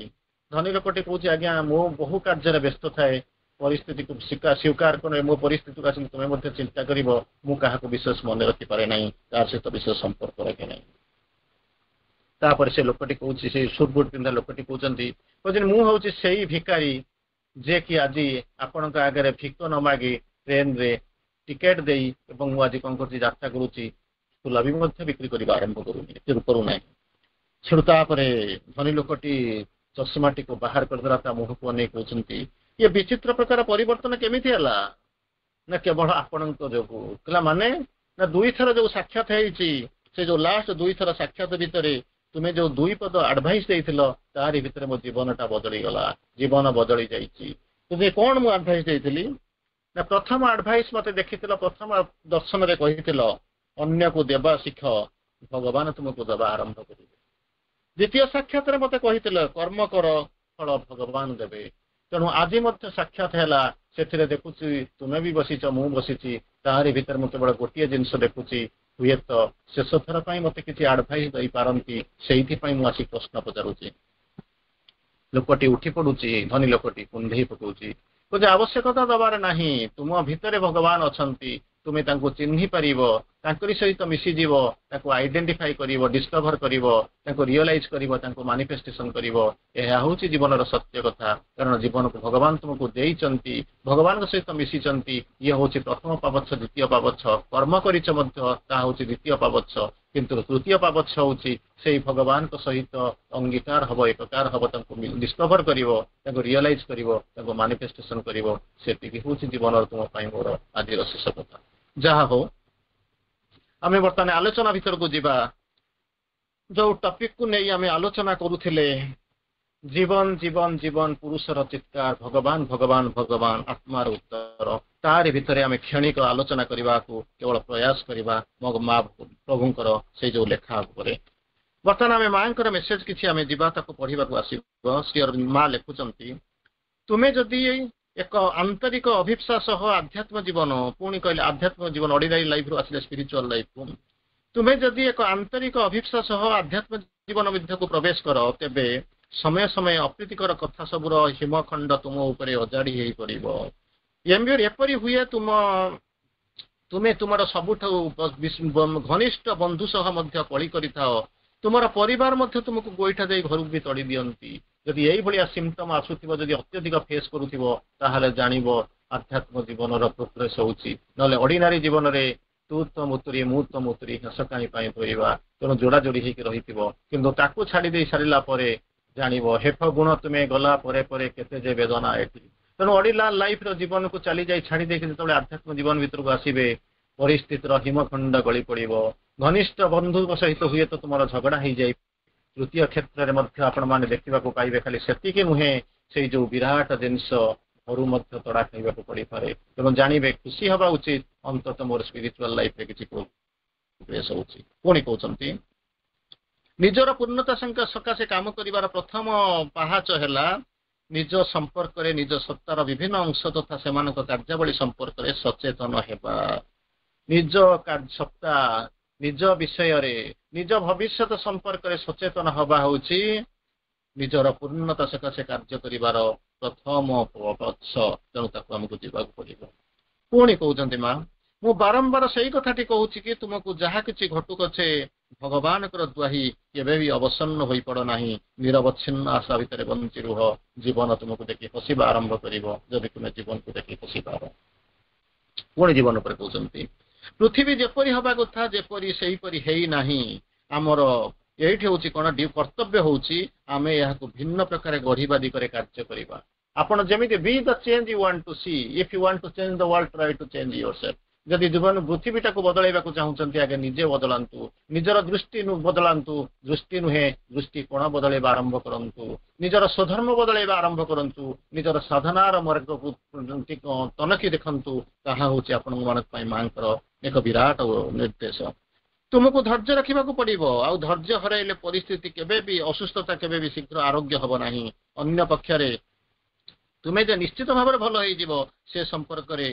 ଧନୀ ଲୋକଟି କହୁଛି, ଆଜ୍ଞା, ମୁଁ ବହୁ କାର୍ଯ୍ୟରେ ବ୍ୟସ୍ତ ଥାଏ, ପରିସ୍ଥିତିକୁ ସ୍ୱୀକାର କରେ, ମୋ ପରିସ୍ଥିତିକୁ ଆସି ତୁମେ ମଧ୍ୟ ଚିନ୍ତା କରିବ, ମୁଁ କାହାକୁ ବିଶେଷ ମନେ ରଖିପାରେ ନାହିଁ, କାହା ସହିତ ବିଶେଷ ସମ୍ପର୍କ ରଖେ ନାହିଁ। ତାପରେ ସେ ଲୋକଟି କହୁଛି, ସେଇ ସୁଟ୍ ବୁଟ୍ ପିନ୍ଧା ଲୋକଟି କହୁଛନ୍ତି କହୁଛନ୍ତି ମୁଁ ହଉଛି ସେଇ ଭିକାରୀ ଯେ କି ଆଜି ଆପଣଙ୍କ ଆଗରେ ଭିକ ନ ମାଗି ଟ୍ରେନରେ ଟିକେଟ ଦେଇ ଏବଂ ମୁଁ ଆଜି କଣ କରୁଛି, ଯାତ୍ରା କରୁଛି, ଫୁଲ ବି ମଧ୍ୟ ବିକ୍ରି କରିବା ଆରମ୍ଭ କରୁନି କରୁନାହିଁ। ସେଠୁ ତାପରେ ଧନୀ ଲୋକଟି ଚଷମାଟିକୁ ବାହାର କରିଦେଲା, ତା ମୁହଁକୁ ଅନେଇ କହୁଛନ୍ତି, ଇଏ ବିଚିତ୍ର ପ୍ରକାର ପରିବର୍ତ୍ତନ କେମିତି ହେଲା? ନା କେବଳ ଆପଣଙ୍କ ଯୋଗୁ। କହିଲା ମାନେ? ନା ଦୁଇଥର ଯୋଉ ସାକ୍ଷାତ ହେଇଛି, ସେ ଯୋଉ ଲାଷ୍ଟ ଦୁଇଥର ସାକ୍ଷାତ ଭିତରେ ତୁମେ ଯୋଉ ଦୁଇ ପଦ ଆଡଭାଇସ ଦେଇଥିଲ, ତାରି ଭିତରେ ମୋ ଜୀବନଟା ବଦଳିଗଲା, ଜୀବନ ବଦଳି ଯାଇଛି। ତୁମେ କଣ ମୁଁ ଆଡଭାଇସ ଦେଇଥିଲି? ନା ପ୍ରଥମ ଆଡଭାଇସ ମତେ ଦେଖିଥିଲ, ପ୍ରଥମ ଦର୍ଶନରେ କହିଥିଲ, ଅନ୍ୟକୁ ଦେବା ଶିଖ, ଭଗବାନ ତୁମକୁ ଦେବା ଆରମ୍ଭ କରିବେ। ଦ୍ୱିତୀୟ ସାକ୍ଷାତରେ ମତେ କହିଥିଲ, କର୍ମ କର, ଫଳ ଭଗବାନ ଦେବେ। ତେଣୁ ଆଜି ମଧ୍ୟ ସାକ୍ଷାତ ହେଲା, ସେଥିରେ ଦେଖୁଛି ତୁମେ ବି ବସିଛ, ମୁଁ ବସିଛି, ତାହାରି ଭିତରେ ମୁଁ କେବଳ ଗୋଟିଏ ଜିନିଷ ଦେଖୁଛି, ହୁଏତ ଶେଷ ଥର ପାଇଁ ମତେ କିଛି ଆଡଭାଇସ ଦେଇପାରନ୍ତି, ସେଇଥିପାଇଁ ମୁଁ ଆସି ପ୍ରଶ୍ନ ପଚାରୁଛି। ଲୋକଟି ଉଠି ପଡୁଛି, ଧନୀ ଲୋକଟି କୁଣ୍ଢେଇ ପକଉଛି, କହୁଛି ଆବଶ୍ୟକତା ଦବାର ନାହିଁ, ତୁମ ଭିତରେ ଭଗବାନ ଅଛନ୍ତି, ତୁମେ ତାଙ୍କୁ ଚିହ୍ନି ପାରିବ, ତାଙ୍କରି ସହିତ ମିଶିଯିବ, ତାଙ୍କୁ ଆଇଡେଣ୍ଟିଫାଇ କରିବ, ଡିସ୍କଭର କରିବ, ତାଙ୍କୁ ରିଅଲାଇଜ କରିବ, ତାଙ୍କୁ ମାନିଫେଷ୍ଟେସନ କରିବ। ଏହା ହେଉଛି ଜୀବନର ସତ୍ୟ କଥା। କାରଣ ଜୀବନକୁ ଭଗବାନ ତୁମକୁ ଦେଇଛନ୍ତି, ଭଗବାନଙ୍କ ସହିତ ମିଶିଛନ୍ତି। ଇଏ ହେଉଛି ପ୍ରଥମ ପାବଚ୍ଛ। ଦ୍ୱିତୀୟ ପାବଚ୍ଛ, କର୍ମ କରିଛ ମଧ୍ୟ, ତାହା ହେଉଛି ଦ୍ୱିତୀୟ ପାବଚ୍ଛ। କିନ୍ତୁ ତୃତୀୟ ପାବଚ୍ଛ ହେଉଛି ସେଇ ଭଗବାନଙ୍କ ସହିତ ଅଙ୍ଗୀକାର ହବ, ଏକକାର ହବ, ତାଙ୍କୁ ଡିସ୍କଭର କରିବ, ତାଙ୍କୁ ରିଅଲାଇଜ କରିବ, ତାଙ୍କୁ ମାନିଫେଷ୍ଟେସନ କରିବ। ସେତିକି ହେଉଛି ଜୀବନର ତୁମ ପାଇଁ ମୋର ଆଜିର ଶେଷ କଥା। ଯାହା ହଉ, ଆମେ ବର୍ତ୍ତମାନ ଆଲୋଚନା ଭିତରକୁ ଯିବା। ଯୋଉ ଟପିକକୁ ନେଇ ଆମେ ଆଲୋଚନା କରୁଥିଲେ, ଜୀବନ ଜୀବନ ଜୀବନ ପୁରୁଷର ଚିତ୍କାର, ଭଗବାନ ଭଗବାନ ଭଗବାନ ଆତ୍ମାର ଉତ୍ତର, ତାରି ଭିତରେ ଆମେ କ୍ଷଣିକ ଆଲୋଚନା କରିବାକୁ କେବଳ ପ୍ରୟାସ କରିବା ମୋ ମା ପ୍ରଭୁଙ୍କର ସେଇ ଯୋଉ ଲେଖା ଉପରେ। ବର୍ତ୍ତମାନ ଆମେ ମାଙ୍କର ମେସେଜ କିଛି ଆମେ ଯିବା, ତାକୁ ପଢିବାକୁ ଆସିବ। ଶ୍ରୀ ଅରବିନ୍ଦ ମା ଲେଖୁଛନ୍ତି, ତୁମେ ଯଦି ଏକ ଆନ୍ତରିକ ଅଭିପ୍ସା ସହ ଆଧ୍ୟାତ୍ମ ଜୀବନ, ପୁଣି କହିଲେ ଆଧ୍ୟାତ୍ମ ଜୀବନ, ଅର୍ଡିନାରୀ ଲାଇଫରୁ ଆସିଲେ ସ୍ପିରିଚୁଆଲ ଲାଇଫକୁ, ତୁମେ ଯଦି ଏକ ଆନ୍ତରିକ ଅଭିପ୍ସା ସହ ଆଧ୍ୟାତ୍ମ ଜୀବନ ମଧ୍ୟକୁ ପ୍ରବେଶ କର, ତେବେ ସମୟ ସମୟ ଅପ୍ରୀତିକର କଥା ସବୁର ହିମଖଣ୍ଡ ତୁମ ଉପରେ ଅଜାଡ଼ି ହେଇ ପଡ଼ିବ। ଏପରି ହୁଏ ତୁମ ତୁମେ ତୁମର ସବୁଠୁ ଘନିଷ୍ଠ ବନ୍ଧୁ ସହ ମଧ୍ୟ କଳି କରିଥାଅ, ତୁମର ପରିବାର ମଧ୍ୟ ତୁମକୁ ଗୋଇଠା ଦେଇ ଘରକୁ ବି ତଡ଼ି ଦିଅନ୍ତି। ଯଦି ଏଇଭଳିଆ ସିମ୍ପଟମ ଆସୁଥିବ, ଯଦି ଅତ୍ୟଧିକ ଫେସ୍ କରୁଥିବ, ତାହେଲେ ଜାଣିବ ଆଧ୍ୟାତ୍ମ ଜୀବନର ପ୍ରୋଗ୍ରେସ ହଉଛି। ନହେଲେ ଅର୍ଡିନାରୀ ଜୀବନରେ ତୁ ତ ମୁତୁରି, ମୁଁ ତ ମୁତୁରି, ଘାସ କାହିଁ ପାଇଁ ଧୋଇବା, ତେଣୁ ଯୋଡ଼ା ଯୋଡ଼ି ହେଇକି ରହିଥିବ। କିନ୍ତୁ ତାକୁ ଛାଡ଼ି ଦେଇ ସାରିଲା ପରେ ଜାଣିବ ହେଫ ଗୁଣ ତୁମେ ଗଲା ପରେ ପରେ କେତେ ଯେ ବେଦନା ଏଠି। ତେଣୁ ଅର୍ଡିନାରୀ ଲାଇଫର ଜୀବନକୁ ଚାଲି ଯାଇ ଛାଡ଼ି ଦେଇକି ଯେତେବେଳେ ଆଧ୍ୟାତ୍ମ ଜୀବନ ଭିତରକୁ ଆସିବେ, ପରିସ୍ଥିତିର ହିମଖଣ୍ଡ ଗଳି ପଡ଼ିବ। ଘନିଷ୍ଠ ବନ୍ଧୁଙ୍କ ସହିତ ହୁଏତ ତୁମର ଝଗଡ଼ା ହେଇଯାଇ। ତୃତୀୟ କ୍ଷେତ୍ରରେ ମଧ୍ୟ ଆପଣମାନେ ଦେଖିବାକୁ ପାଇବେ, ଖାଲି ସେତିକି ନୁହେଁ, ସେଇ ଯୋଉ ବିରାଟ ଜିନିଷ ଘରୁ ମଧ୍ୟ ତଡ଼ା ଖାଇବାକୁ ପଡ଼ିପାରେ। ତେଣୁ ଜାଣିବେ, ଖୁସି ହେବା ଉଚିତ, ଅନ୍ତତଃ ମୋର ସ୍ପିରିଚୁଆଲ ଲାଇଫରେ କିଛି ପ୍ରୋଗ୍ରେସ ହଉଛି। ପୁଣି କହୁଛନ୍ତି, ନିଜର ପୂର୍ଣ୍ଣତା ସକାଶେ କାମ କରିବାର ପ୍ରଥମ ପାହାଚ ହେଲା ନିଜ ସମ୍ପର୍କରେ, ନିଜ ସତ୍ତାର ବିଭିନ୍ନ ଅଂଶ ତଥା ସେମାନଙ୍କ କାର୍ଯ୍ୟାବଳୀ ସମ୍ପର୍କରେ ସଚେତନ ହେବା। ନିଜ ସତ୍ତା, ନିଜ ବିଷୟରେ, ନିଜ ଭବିଷ୍ୟତ ସମ୍ପର୍କରେ ସଚେତନ ହବା ହେଉଛି ନିଜର ପୂର୍ଣ୍ଣତା ସକାଶେ କାର୍ଯ୍ୟ କରିବାର ପ୍ରଥମ ପଛ। ତେଣୁ ତାକୁ ଆମକୁ ଯିବାକୁ ପଡ଼ିବ। ପୁଣି କହୁଛନ୍ତି ମା, ମୁଁ ବାରମ୍ବାର ସେଇ କଥାଟି କହୁଛି କି ତୁମକୁ ଯାହା କିଛି ଘଟୁ ପଛେ ଭଗବାନଙ୍କର ଦ୍ୱାହି କେବେ ବି ଅବସନ୍ନ ହୋଇପଡ଼ ନାହିଁ। ନିରବଚ୍ଛିନ୍ନ ଆଶା ଭିତରେ ବଞ୍ଚି ରୁହ। ଜୀବନ ତୁମକୁ ଦେଖି ହସିବା ଆରମ୍ଭ କରିବ, ଯଦି ତୁମେ ଜୀବନକୁ ଦେଖି ହସିପାର। ପୁଣି ଜୀବନ ଉପରେ କହୁଛନ୍ତି, ପୃଥିବୀ ଯେପରି ହବା କଥା ଯେପରି ସେହିପରି ହେଇନାହିଁ। ଆମର ଏଇଠି ହଉଛି କଣ କର୍ତ୍ତବ୍ୟ ହଉଛି ଆମେ ଏହାକୁ ଭିନ୍ନ ପ୍ରକାର ଗଢିବା ଦିଗରେ କାର୍ଯ୍ୟ କରିବା। ଆପଣ ଯେମିତି be the change you want to see, if you want to change the world, try to change yourself। ଯଦି ଜୀବନ ପୃଥିବୀଟାକୁ ବଦଳାଇବାକୁ ଚାହୁଁଛନ୍ତି, ଆଗେ ନିଜେ ବଦଳାନ୍ତୁ, ନିଜର ଦୃଷ୍ଟି ବଦଳାନ୍ତୁ, ଦୃଷ୍ଟି ନୁହେଁ ଦୃଷ୍ଟିକୋଣ ବଦଳାଇବା ଆରମ୍ଭ କରନ୍ତୁ, ନିଜର ସ୍ୱଧର୍ମ ବଦଳାଇବା ଆରମ୍ଭ କରନ୍ତୁ, ନିଜର ସାଧନାର ମାର୍ଗକୁ ତନଖି ଦେଖନ୍ତୁ। ତାହା ହଉଛି ଆପଣଙ୍କ ମାନଙ୍କ ପାଇଁ ମାଙ୍କର ଏକ ବିରାଟ ନିର୍ଦ୍ଦେଶ। ତୁମକୁ ଧୈର୍ଯ୍ୟ ରଖିବାକୁ ପଡିବ। ଆଉ ଧୈର୍ଯ୍ୟ ହରାଇଲେ ପରିସ୍ଥିତି କେବେ ବି, ଅସୁସ୍ଥତା କେବେ ବି ଶୀଘ୍ର ଆରୋଗ୍ୟ ହବ ନାହିଁ। ଅନ୍ୟ ପକ୍ଷରେ ତୁମେ ଯେ ନିଶ୍ଚିତ ଭାବରେ ଭଲ ହେଇଯିବ, ସେ ସମ୍ପର୍କରେ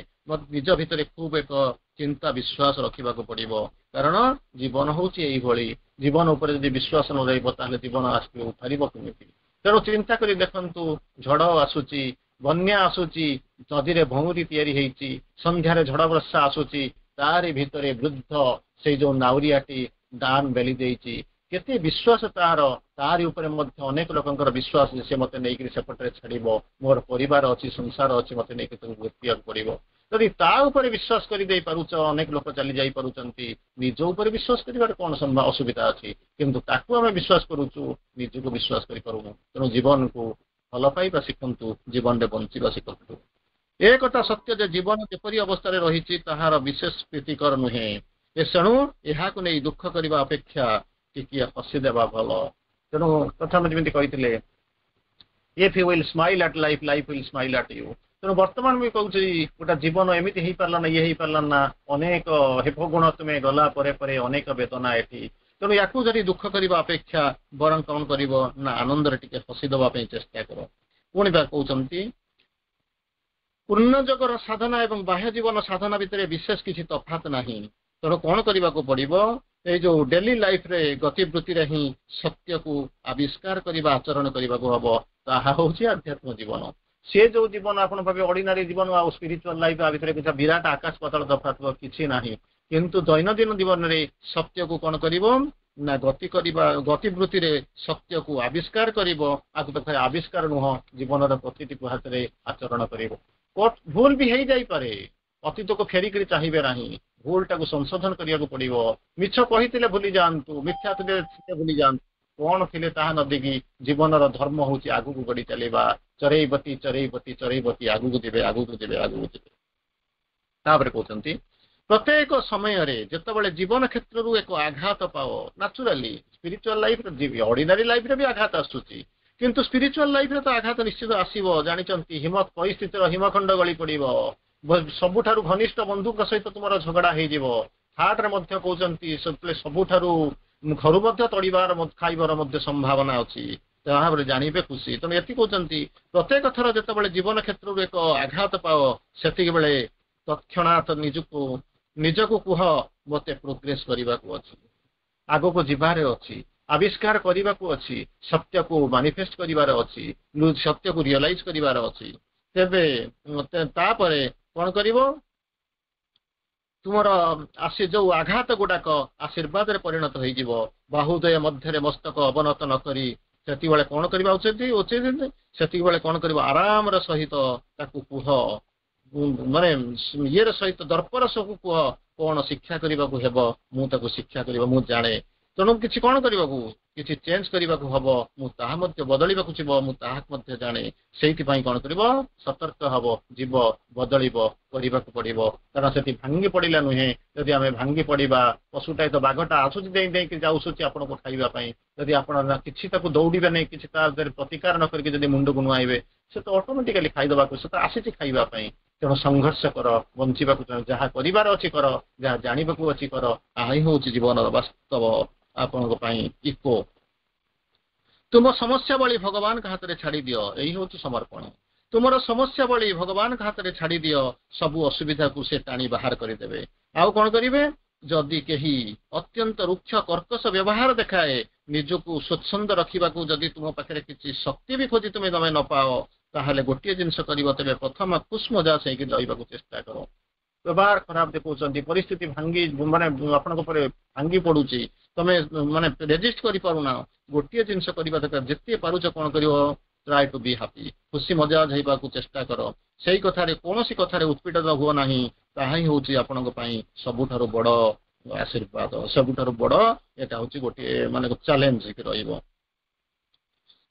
ନିଜ ଭିତରେ ଖୁବ ଏକ ଚିନ୍ତା ବିଶ୍ୱାସ ରଖିବାକୁ ପଡିବ। କାରଣ ଜୀବନ ହଉଛି ଏଇଭଳି। ଜୀବନ ଉପରେ ଯଦି ବିଶ୍ୱାସ ନ ରହିବ, ତାହେଲେ ଜୀବନ ଆସିବ ଉଠାରିବ କେମିତି? ତେଣୁ ଚିନ୍ତା କରି ଦେଖନ୍ତୁ, ଝଡ଼ ଆସୁଛି, ବନ୍ୟା ଆସୁଛି, ନଦୀରେ ଭଉଁରୀ ତିଆରି ହେଇଛି, ସନ୍ଧ୍ୟାରେ ଝଡ଼ ବର୍ଷା ଆସୁଛି, ତାରି ଭିତରେ ବୃଦ୍ଧ ସେଇ ଯୋଉ ନାଉରିଆଟି ଦାନ ବେଲି ଦେଇଛି। କେତେ ବିଶ୍ୱାସ ତାହାର। ତାରି ଉପରେ ମଧ୍ୟ ଅନେକ ଲୋକଙ୍କର ବିଶ୍ୱାସ ଯେ ସେ ମତେ ନେଇକରି ସେପଟରେ ଛାଡିବ, ମୋର ପରିବାର ଅଛି, ସଂସାର ଅଛି, ମତେ ନେଇକି ତାକୁ ଭୋଟିବାକୁ ପଡିବ। ଯଦି ତା ଉପରେ ବିଶ୍ୱାସ କରିଦେଇ ପାରୁଛ, ଅନେକ ଲୋକ ଚାଲି ଯାଇ ପାରୁଛନ୍ତି। ନିଜ ଉପରେ ବିଶ୍ୱାସ କରିବାରେ କଣ ଅସୁବିଧା ଅଛି? କିନ୍ତୁ ତାକୁ ଆମେ ବିଶ୍ୱାସ କରୁଛୁ, ନିଜକୁ ବିଶ୍ୱାସ କରିପାରୁନୁ। ତେଣୁ ଜୀବନକୁ ଭଲ ପାଇବା ଶିଖନ୍ତୁ, ଜୀବନରେ ବଞ୍ଚିବା ଶିଖନ୍ତୁ। ଏ କଥା ସତ୍ୟ ଯେ ଜୀବନ ଯେପରି ଅବସ୍ଥାରେ ରହିଛି, ତାହାର ବିଶେଷ ପ୍ରୀତିକର ନୁହେଁ। ତେଣୁ ଏହାକୁ ନେଇ ଦୁଃଖ କରିବା ଅପେକ୍ଷା ଟିକିଏ ହସିଦେବା ଭଲ। ତେଣୁ ପ୍ରଥମେ ଯେମିତି କହିଥିଲେ, "If you will smile at life, life will smile at you." ତେଣୁ ବର୍ତ୍ତମାନ ବି କହୁଛି, ଗୋଟେ ଜୀବନ ଏମିତି ହେଇପାରିଲା ନା, ଇଏ ହେଇପାରିଲା ନା, ଅନେକ ହେପଗୁଣ ତୁମେ ଗଲା ପରେ ପରେ ଅନେକ ବେଦନା ଏଠି। ତେଣୁ ୟାକୁ ଯଦି ଦୁଃଖ କରିବା ଅପେକ୍ଷା ବରଂ କଣ କରିବ ନା, ଆନନ୍ଦରେ ଟିକେ ହସିଦେବା ପାଇଁ ଚେଷ୍ଟା କର। ପୁଣି ବା କହୁଛନ୍ତି, ପୂର୍ଣ୍ଣ ଯୋଗର ସାଧନା ଏବଂ ବାହ୍ୟ ଜୀବନ ସାଧନା ଭିତରେ ବିଶେଷ କିଛି ତଫାତ ନାହିଁ। ତେଣୁ କଣ କରିବାକୁ ପଡିବ? ଏଇ ଯୋଉ ଡେଲି ଲାଇଫରେ ଗତିବୃତ୍ତିରେ ହିଁ ସତ୍ୟକୁ ଆବିଷ୍କାର କରିବା, ଆଚରଣ କରିବାକୁ ହବ। ତାହା ହଉଛି ଆଧ୍ୟାତ୍ମ ଜୀବନ। ସେ ଯୋଉ ଜୀବନ ଆପଣ ଭାବେ ଅର୍ଡିନାରୀ ଜୀବନ ଆଉ ସ୍ପିରିଚୁଆଲ ଲାଇଫ ଆ ଭିତରେ କିଛି ବିରାଟ ଆକାଶ ପାତାଳ ତଫାତ କିଛି ନାହିଁ। କିନ୍ତୁ ଦୈନନ୍ଦିନ ଜୀବନରେ ସତ୍ୟକୁ କଣ କରିବ ନା, ଗତି କରିବା, ଗତିବୃତ୍ତିରେ ସତ୍ୟକୁ ଆବିଷ୍କାର କରିବ। ଆକୁ ତ ଆବିଷ୍କାର ନୁହଁ, ଜୀବନର ପ୍ରତିଟି ହାତରେ ଆଚରଣ କରିବ। ଭୁଲ ବି ହେଇଯାଇପାରେ, ଅତୀତକୁ ଫେରିକିରି ଚାହିଁବେ ନାହିଁ। ଭୁଲଟାକୁ ସଂଶୋଧନ କରିବାକୁ ପଡିବ। ମିଛ କହିଥିଲେ ଭୁଲି ଯାଆନ୍ତୁ, ମିଥ୍ୟା ଥିଲେ ଭୁଲି ଯାଆନ୍ତୁ, କଣ ଥିଲେ ତାହା ନ ଦେଖି ଜୀବନର ଧର୍ମ ହଉଛି ଆଗକୁ ଗଡି ଚାଲିବା। ଚରେଇବତୀ, ଚରେଇବତୀ, ଚରେଇବତୀ, ଆଗକୁ ଯିବେ, ଆଗକୁ ଯିବେ, ଆଗକୁ ଯିବେ। ତାପରେ କହୁଛନ୍ତି, ପ୍ରତ୍ୟେକ ସମୟରେ ଯେତେବେଳେ ଜୀବନ କ୍ଷେତ୍ରରୁ ଏକ ଆଘାତ ପାଅ, ନାଚୁରାଲି ସ୍ପିରିଚୁଆଲ ଲାଇଫରେ, ଅର୍ଡିନାରୀ ଲାଇଫରେ ବି ଆଘାତ ଆସୁଛି, କିନ୍ତୁ ସ୍ପିରିଚୁଆଲ ଲାଇଫରେ ତ ଆଘାତ ନିଶ୍ଚିତ ଆସିବ। ଜାଣିଛନ୍ତି, ହିମ ପରିସ୍ଥିତିର ହିମଖଣ୍ଡ ଗଳି ପଡିବ। ସବୁଠାରୁ ଘନିଷ୍ଠ ବନ୍ଧୁଙ୍କ ସହିତ ତୁମର ଝଗଡା ହେଇଯିବ। ଥାର୍ଡରେ ମଧ୍ୟ କହୁଛନ୍ତି, ସବୁଠାରୁ ଘରୁ ମଧ୍ୟ ତଡ଼ିବାର ଖାଇବାର ମଧ୍ୟ ସମ୍ଭାବନା ଅଛି। ତାହାପରେ ଜାଣିବେ ଖୁସି। ତେଣୁ ଏଠି କହୁଛନ୍ତି, ପ୍ରତ୍ୟେକ ଥର ଯେତେବେଳେ ଜୀବନ କ୍ଷେତ୍ରରୁ ଏକ ଆଘାତ ପାଅ, ସେତିକି ବେଳେ ତତ୍କ୍ଷଣାତ ନିଜକୁ ନିଜକୁ କୁହ, ମତେ ପ୍ରୋଗ୍ରେସ କରିବାକୁ ଅଛି, ଆଗକୁ ଯିବାରେ ଅଛି, ଆବିଷ୍କାର କରିବାକୁ ଅଛି, ସତ୍ୟକୁ ମାନିଫେଷ୍ଟ କରିବାର ଅଛି, ସତ୍ୟକୁ ରିଅଲାଇଜ କରିବାର ଅଛି। ତେବେ ତାପରେ କଣ କରିବ? ତୁମର ଆସି ଯୋଉ ଆଘାତ ଗୁଡାକ ଆଶୀର୍ବାଦରେ ପରିଣତ ହେଇଯିବ। ବାହୁଦ୍ୱୟ ମଧ୍ୟରେ ମସ୍ତକ ଅବନତ ନ କରି ସେତିକିବେଳେ କଣ କରିବା ଉଚିତ ଉଚିତ ସେତିକିବେଳେ କଣ କରିବ? ଆରାମର ସହିତ ତାକୁ କୁହ, ମାନେ ଇଏର ସହିତ, ଦର୍ପର ସବୁ କୁହ, କଣ ଶିକ୍ଷା କରିବାକୁ ହେବ, ମୁଁ ତାକୁ ଶିକ୍ଷା କରିବ, ମୁଁ ଜାଣେ। ତେଣୁ କିଛି କଣ କରିବାକୁ, କିଛି ଚେଞ୍ଜ କରିବାକୁ ହବ, ମୁଁ ତାହା ମଧ୍ୟ ବଦଳିବାକୁ ଯିବ, ମୁଁ ତାହା ମଧ୍ୟ ଜାଣେ। ସେଇଥିପାଇଁ କଣ କରିବ? ସତର୍କ ହବ, ଯିବ, ବଦଳିବ, କରିବାକୁ ପଡିବ। କାରଣ ସେଠି ଭାଙ୍ଗି ପଡିଲା ନୁହେଁ। ଯଦି ଆମେ ଭାଙ୍ଗି ପଡିବା, ପଶୁଟା ତ ବାଘଟା ଆସୁଛି, ଡେଇଁ ଡେଇଁକି ଯାଉସୁଛି ଆପଣଙ୍କୁ ଖାଇବା ପାଇଁ। ଯଦି ଆପଣ କିଛି ତାକୁ ଦୌଡ଼ିବେ ନାହିଁ, କିଛି ତା ଦେହରେ ପ୍ରତିକାର ନ କରିକି ଯଦି ମୁଣ୍ଡକୁ ନୁଆଇବେ, ସେ ତ ଅଟୋମେଟିକାଲି ଖାଇଦେବାକୁ, ସେ ତ ଆସିଛି ଖାଇବା ପାଇଁ। ତେଣୁ ସଂଘର୍ଷ କର, ବଞ୍ଚିବାକୁ ଯାହା କରିବାର ଅଛି କର, ଯାହା ଜାଣିବାକୁ ଅଛି କର। ତାହା ହିଁ ହଉଛି ଜୀବନର ବାସ୍ତବ ଆପଣଙ୍କ ପାଇଁ ଇକୋ। ତୁମ ସମସ୍ୟାବଳୀ ଭଗବାନଙ୍କ ହାତରେ ଛାଡି ଦିଅ। ଏଇ ହଉଛି ସମର୍ପଣ। ତୁମର ସମସ୍ୟାବଳୀ ଭଗବାନଙ୍କ ହାତରେ ଛାଡି ଦିଅ। ସବୁ ଅସୁବିଧାକୁ ସେ ଟାଣି ବାହାର କରିଦେବେ। ଆଉ କଣ କରିବେ? ଯଦି କେହି ଅତ୍ୟନ୍ତ ରୁକ୍ଷ କର୍କଶ ବ୍ୟବହାର ଦେଖାଏ, ନିଜକୁ ସ୍ୱଚ୍ଛନ୍ଦ ରଖିବାକୁ ଯଦି ତୁମ ପାଖରେ କିଛି ଶକ୍ତି ବି ଖୋଜି ତୁମେ ତମେ ନ ପାଅ, ତାହେଲେ ଗୋଟିଏ ଜିନିଷ କରିବ। ତେବେ ପ୍ରଥମ ଖୁସମଜାଜ ହେଇକି ରହିବାକୁ ଚେଷ୍ଟା କର। ବ୍ୟବହାର ଖରାପ ଦେଖାଉଛନ୍ତି, ପରିସ୍ଥିତି ଭାଙ୍ଗି ମାନେ ଆପଣଙ୍କ ଉପରେ ଭାଙ୍ଗି ପଡୁଛି, ତମେ ମାନେ ରେଜିଷ୍ଟ କରିପାରୁନା, ଗୋଟିଏ ଜିନିଷ କରିବା ଦରକାର। ଯେତେ ପାରୁଛ କଣ କରିବ? Try to be happy. ଖୁସି ମଜାଜ ହେବାକୁ ଚେଷ୍ଟା କର। ସେଇ କଥାରେ, କୌଣସି କଥାରେ ଉତ୍ପୀଡ଼ିତ ହୁଅ ନାହିଁ। ତାହା ହିଁ ହଉଛି ଆପଣଙ୍କ ପାଇଁ ସବୁଠାରୁ ବଡ ଆଶୀର୍ବାଦ, ସବୁଠାରୁ ବଡ ଏଟା ହଉଛି ଗୋଟିଏ ମାନେ ଚ୍ୟାଲେଞ୍ଜ ରହିବ।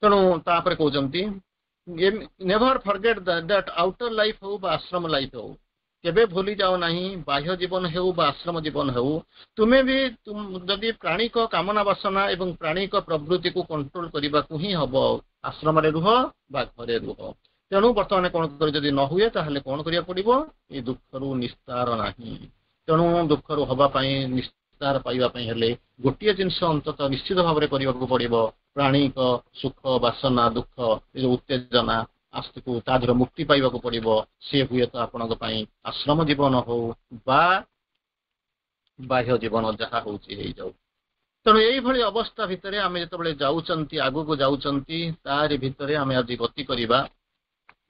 ତେଣୁ ତାପରେ କହୁଛନ୍ତି, never forget that outer life ହଉ ବା ଆଶ୍ରମ ଲାଇଫ ହଉ, କେବେ ଭୁଲି ଯାଅ ନାହିଁ, ବାହ୍ୟ ଜୀବନ ହେଉ ବା ଆଶ୍ରମ ଜୀବନ ହେଉ, ତୁମେ ବି ଯଦି ପ୍ରାଣିକ କାମନା ବାସନା ଏବଂ ପ୍ରାଣିକ ପ୍ରବୃତ୍ତିକୁ କଣ୍ଟ୍ରୋଲ କରିବାକୁ ହିଁ ହବ, ଆଶ୍ରମରେ ରୁହ ବା ଘରେ ରୁହ। ତେଣୁ ବର୍ତ୍ତମାନ କଣ କରି ଯଦି ନ ହୁଏ, ତାହେଲେ କଣ କରିବାକୁ ପଡିବ? ଏଇ ଦୁଃଖରୁ ନିସ୍ତାର ନାହିଁ। ତେଣୁ ଦୁଃଖରୁ ହବା ପାଇଁ, ନିସ୍ତାର ପାଇବା ପାଇଁ ହେଲେ ଗୋଟିଏ ଜିନିଷ ଅନ୍ତତଃ ନିଶ୍ଚିତ ଭାବରେ କରିବାକୁ ପଡିବ। ପ୍ରାଣୀକ ସୁଖ ବାସନା, ଦୁଃଖ, ଏ ଯୋଉ ଉତ୍ତେଜନା ଆସ୍ତିକୁ, ତା ଦେହରେ ମୁକ୍ତି ପାଇବାକୁ ପଡିବ। ସେ ହୁଏତ ଆପଣଙ୍କ ପାଇଁ ଆଶ୍ରମ ଜୀବନ ହଉ ବା ବାହ୍ୟ ଜୀବନ, ଯାହା ହଉଛି ହେଇଯାଉ। ତେଣୁ ଏଇଭଳି ଅବସ୍ଥା ଭିତରେ ଆମେ ଯେତେବେଳେ ଯାଉଛନ୍ତି, ଆଗକୁ ଯାଉଛନ୍ତି, ତାରି ଭିତରେ ଆମେ ଆଜି ଗତି କରିବା।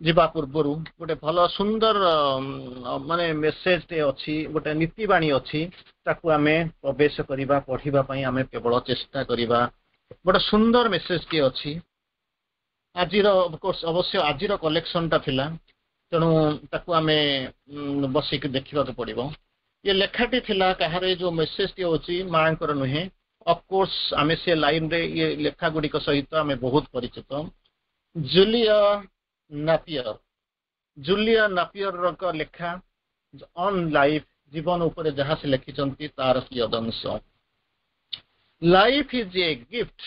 ଯିବା ପୂର୍ବରୁ ଗୋଟେ ଭଲ ସୁନ୍ଦର ମାନେ ମେସେଜଟେ ଅଛି, ଗୋଟେ ନୀତିବାଣୀ ଅଛି, ତାକୁ ଆମେ ପ୍ରବେଶ କରିବା, ପଢିବା ପାଇଁ ଆମେ କେବଳ ଚେଷ୍ଟା କରିବା। ଗୋଟେ ସୁନ୍ଦର ମେସେଜଟିଏ ଅଛି ଆଜିର, ଅବଶ୍ୟ ଆଜିର କଲେକ୍ସନଟା ଥିଲା। ତେଣୁ ତାକୁ ଆମେ ବସିକି ଦେଖିବାକୁ ପଡିବ ଏ ଲେଖାଟି ଥିଲା କାହାର ଏ ଯୋଉ ମେସେଜଟି ହେଉଛି ମାଙ୍କର ନୁହେଁ ଅଫକୋର୍ସ ଆମେ ସେ ଲାଇନରେ ଇଏ ଲେଖା ଗୁଡ଼ିକ ସହିତ ଆମେ ବହୁତ ପରିଚିତ ଜୁଲିଆ ନାପିୟର ଜୁଲିଆ ନାପିୟରଙ୍କ ଲେଖା ଅନ୍ ଲାଇଫ ଜୀବନ ଉପରେ ଯାହା ସେ ଲେଖିଛନ୍ତି ତାର କିୟଦଂଶ Life is a gift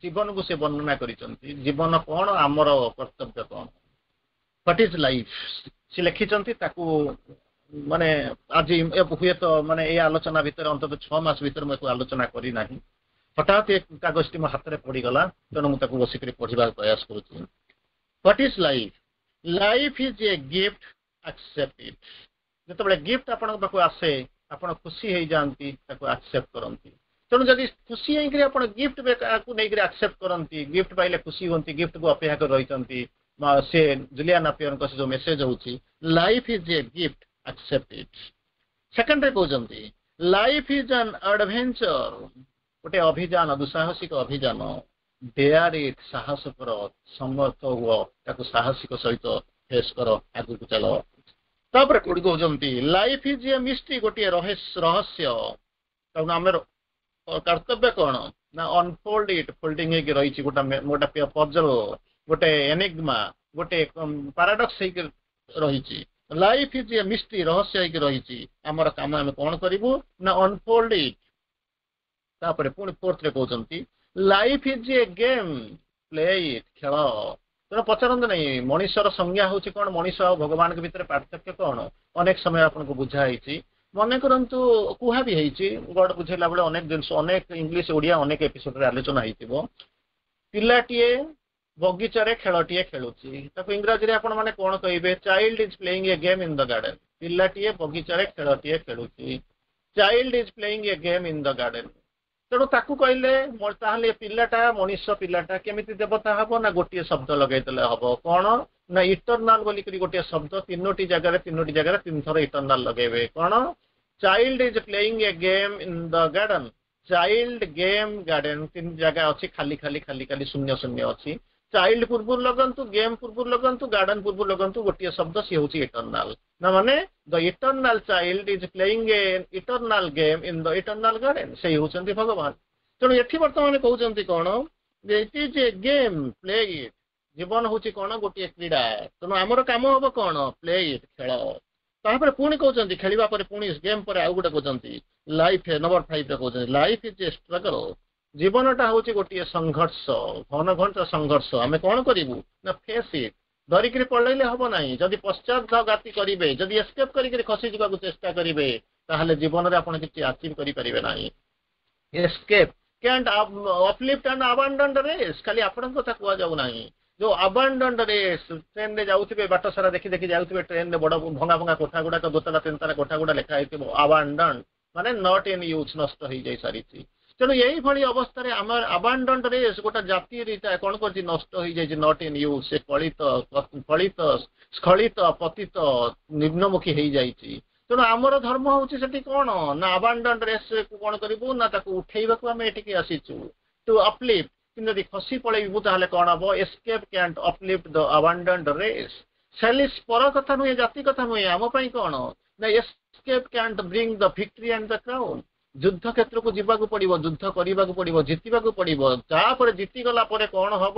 ଜୀବନକୁ ସେ ବର୍ଣ୍ଣନା କରିଛନ୍ତି ଜୀବନ କଣ ଆମର କର୍ତ୍ତବ୍ୟ କଣ What is life ସେ ଲେଖିଛନ୍ତି ତାକୁ ମାନେ ଆଜି ହୁଏତ ମାନେ ଏଇ ଆଲୋଚନା ଭିତରେ ଅନ୍ତତଃ ଛଅ ମାସ ଭିତରେ ମୁଁ ଏକୁ ଆଲୋଚନା କରିନାହିଁ ହଠାତ୍ ଏ କାଗଜଟି ମୋ ହାତରେ ପଡ଼ିଗଲା ତେଣୁ ମୁଁ ତାକୁ ବସିକରି ପଢିବାକୁ ପ୍ରୟାସ କରୁଛି What is life life is a gift accept it ଯେତେବେଳେ ଗିଫ୍ଟ ଆପଣଙ୍କ ପାଖକୁ ଆସେ ଆପଣ ଖୁସି ହେଇଯାଆନ୍ତି ତାକୁ ଆକ୍ସେପ୍ଟ କରନ୍ତି ତେଣୁ ଯଦି ଖୁସି ହେଇକରି ଆପଣ ଗିଫ୍ଟ କୁ ନେଇକରି ଆକ୍ସେପ୍ଟ କରନ୍ତି ଗିଫ୍ଟ ପାଇଲେ ଖୁସି ହୁଅନ୍ତି ଗିଫ୍ଟକୁ ଅପେକ୍ଷା କରି ରହିଛନ୍ତି ସେ ଜୁଲିଆ ନାପିୟରଙ୍କ ସେ ଯୋଉ ମେସେଜ ହଉଛି Life is a gift accept it ସେକେଣ୍ଡରେ କହୁଛନ୍ତି Life is an adventure ଗୋଟେ ଅଭିଯାନ ଦୁଃସାହସିକ ଅଭିଯାନ Dare it ସାହସ କର ସମର୍ଥ ହୁଅ ତାକୁ ସାହସିକ ସହିତ ଫେସ୍ କର ଆଗକୁ ଚାଲ ତାପରେ କୋଉଠି କହୁଛନ୍ତି Life is a mystery ଗୋଟିଏ ରହସ୍ୟ ତେଣୁ ଆମର କର୍ତ୍ତବ୍ୟ କଣ ନା unfold it folding ହେଇକି ରହିଛି ଗୋଟେ ଗୋଟେ ପଜଲ ଗୋଟେ ଏନିଗ୍ମା ଗୋଟେ ପାରାଡକ୍ସ ହେଇକି ରହିଛି Life is a mystery ରହସ୍ୟ ହେଇକି ରହିଛି ଆମର କାମ ଆମେ କଣ କରିବୁ ନା ଅନଫୋଲ୍ଡ ଇଟ୍ ତାପରେ ପୁଣି ଫୋର୍ଥରେ କହୁଛନ୍ତି Life is a game play it ଖେଳ ତେଣୁ ପଚାରନ୍ତୁ ନାହିଁ ମଣିଷର ସଂଜ୍ଞା ହଉଛି କଣ ମଣିଷ ଆଉ ଭଗବାନଙ୍କ ଭିତରେ ପାର୍ଥକ୍ୟ କଣ ଅନେକ ସମୟ ଆପଣଙ୍କୁ ବୁଝା ହେଇଛି ମନେ କରନ୍ତୁ କୁହା ବି ହେଇଛି ଗଡ ବୁଝେଇଲା ବେଳେ ଅନେକ ଜିନିଷ ଅନେକ ଇଂଲିଶ ଓଡିଆ ଅନେକ ଏପିସୋଡରେ ଆଲୋଚନା ହେଇଥିବ ପିଲାଟିଏ ବଗିଚାରେ ଖେଳଟିଏ ଖେଳୁଛି ତାକୁ ଇଂରାଜୀରେ ଆପଣ ମାନେ କଣ କହିବେ Child is playing a game in the garden ପିଲାଟିଏ ବଗିଚାରେ ଖେଳଟିଏ ଖେଳୁଛି Child is playing a game in the garden ତେଣୁ ତାକୁ କହିଲେ ତାହେଲେ ପିଲାଟା ମଣିଷ ପିଲାଟା କେମିତି ଦେବତା ହବ ନା ଗୋଟିଏ ଶବ୍ଦ ଲଗେଇଦେଲେ ହବ କଣ ନା ଇଟରନାଲ ବୋଲିକରି ଗୋଟିଏ ଶବ୍ଦ ତିନୋଟି ଜାଗାରେ ତିନୋଟି ଜାଗାରେ ତିନି ଥର ଇଟରନାଲ ଲଗେଇବେ କଣ Child is playing a game in the garden child game garden ତିନି ଜାଗା ଅଛି ଖାଲି ଖାଲି ଖାଲି ଖାଲି ଶୂନ୍ୟ ଶୂନ୍ୟ ଅଛି ଚାଇଲ୍ଡ ପୂର୍ବରୁ ଲଗାନ୍ତୁ ଗେମ୍ ପୂର୍ବରୁ ଲଗାନ୍ତୁ ଗାର୍ଡେନ ପୂର୍ବରୁ ଲଗାନ୍ତୁ ଗୋଟିଏ ଶବ୍ଦ ସିଏ ହଉଛି ଇଟରନାଲ ନା ମାନେ the eternal child is playing a eternal game in the eternal garden ସେଇ ହଉଛନ୍ତି ଭଗବାନ ତେଣୁ ଏଠି ବର୍ତ୍ତମାନ କହୁଛନ୍ତି କଣ ଯେ It is a game play it ଜୀବନ ହଉଛି କଣ ଗୋଟିଏ କ୍ରୀଡ଼ା ତେଣୁ ଆମର କାମ ହବ କଣ ପ୍ଲେ ଇଟ୍ ଖେଳ ତାପରେ ପୁଣି କହୁଛନ୍ତି ଖେଳିବା ପରେ ପୁଣି ଗେମ୍ ପରେ ଆଉ ଗୋଟେ କହୁଛନ୍ତି ଲାଇଫ ନମ୍ବର ଫାଇଭରେ କହୁଛନ୍ତି Life is a struggle ଜୀବନଟା ହଉଛି ଗୋଟିଏ ସଂଘର୍ଷ ଘନ ଘଞ୍ଚ ସଂଘର୍ଷ ଆମେ କଣ କରିବୁ ନା ଫେସ୍ ଇଟ୍ ଡରିକିରି ପଳେଇଲେ ହବ ନାହିଁ ଯଦି ପଶ୍ଚାତଘାତୀ କରିବେ ଯଦି ଏସ୍କେପ୍ କରିକିରି ଖସି ଯିବାକୁ ଚେଷ୍ଟା କରିବେ ତାହେଲେ ଜୀବନରେ ଆପଣ କିଛି ଆଚିଭ୍ କରିପାରିବେ ନାହିଁ ଏସ୍କେପ୍ କ୍ୟାଣ୍ଟ ଅପଲିଫ୍ଟ ଆଣ୍ଡ ଆବାଣ୍ଡଣ୍ଡ ରେସ୍ ଖାଲି ଆପଣଙ୍କ କଥା କୁହାଯାଉ ନାହିଁ ଯୋଉ ଆବାଣ୍ଡଣ୍ଡ ରେସ୍ ଟ୍ରେନରେ ଯାଉଥିବେ ବାଟ ସାରା ଦେଖି ଦେଖି ଯାଉଥିବେ ଟ୍ରେନରେ ବଡ ଭଙ୍ଗା ଭଙ୍ଗା କୋଠା ଗୁଡାକ ଦୋତଲା ତିନିତାଲା କୋଠା ଗୁଡା ଲେଖା ହେଇଥିବ ଆବାଣ୍ଡନ ମାନେ not in use ନଷ୍ଟ ହେଇଯାଇ ସାରିଛି ତେଣୁ ଏଇଭଳି ଅବସ୍ଥାରେ ଆମର ଆବାଣ୍ଡଣ୍ଡ ରେସ୍ ଗୋଟେ ଜାତି କଣ କରିଛି ନଷ୍ଟ ହେଇଯାଇଛି not in use ସେ କଳିତ ଫଳିତ ସ୍ଖଳିତ ପତିତ ନିମ୍ନମୁଖୀ ହେଇଯାଇଛି ତେଣୁ ଆମର ଧର୍ମ ହଉଛି ସେଠି କଣ ନା ଆବାଣ୍ଡଣ୍ଡ ରେସ୍ କୁ କଣ କରିବୁ ନା ତାକୁ ଉଠେଇବାକୁ ଆମେ ଏଠିକି ଆସିଛୁ ଟୁ ଅପଲିଫ୍ଟ କିନ୍ତୁ ଯଦି ଖସି ପଳେଇବୁ ତାହେଲେ କଣ ହବ escape can't uplift the abandoned race ସେଲିସ୍ ପର କଥା ନୁହେଁ ଜାତି କଥା ନୁହେଁ ଆମ ପାଇଁ କଣ ନା escape can't bring the victory and the crown ଯୁଦ୍ଧ କ୍ଷେତ୍ରକୁ ଯିବାକୁ ପଡିବ ଯୁଦ୍ଧ କରିବାକୁ ପଡିବ ଜିତିବାକୁ ପଡିବ ତାପରେ ଜିତିଗଲା ପରେ କଣ ହବ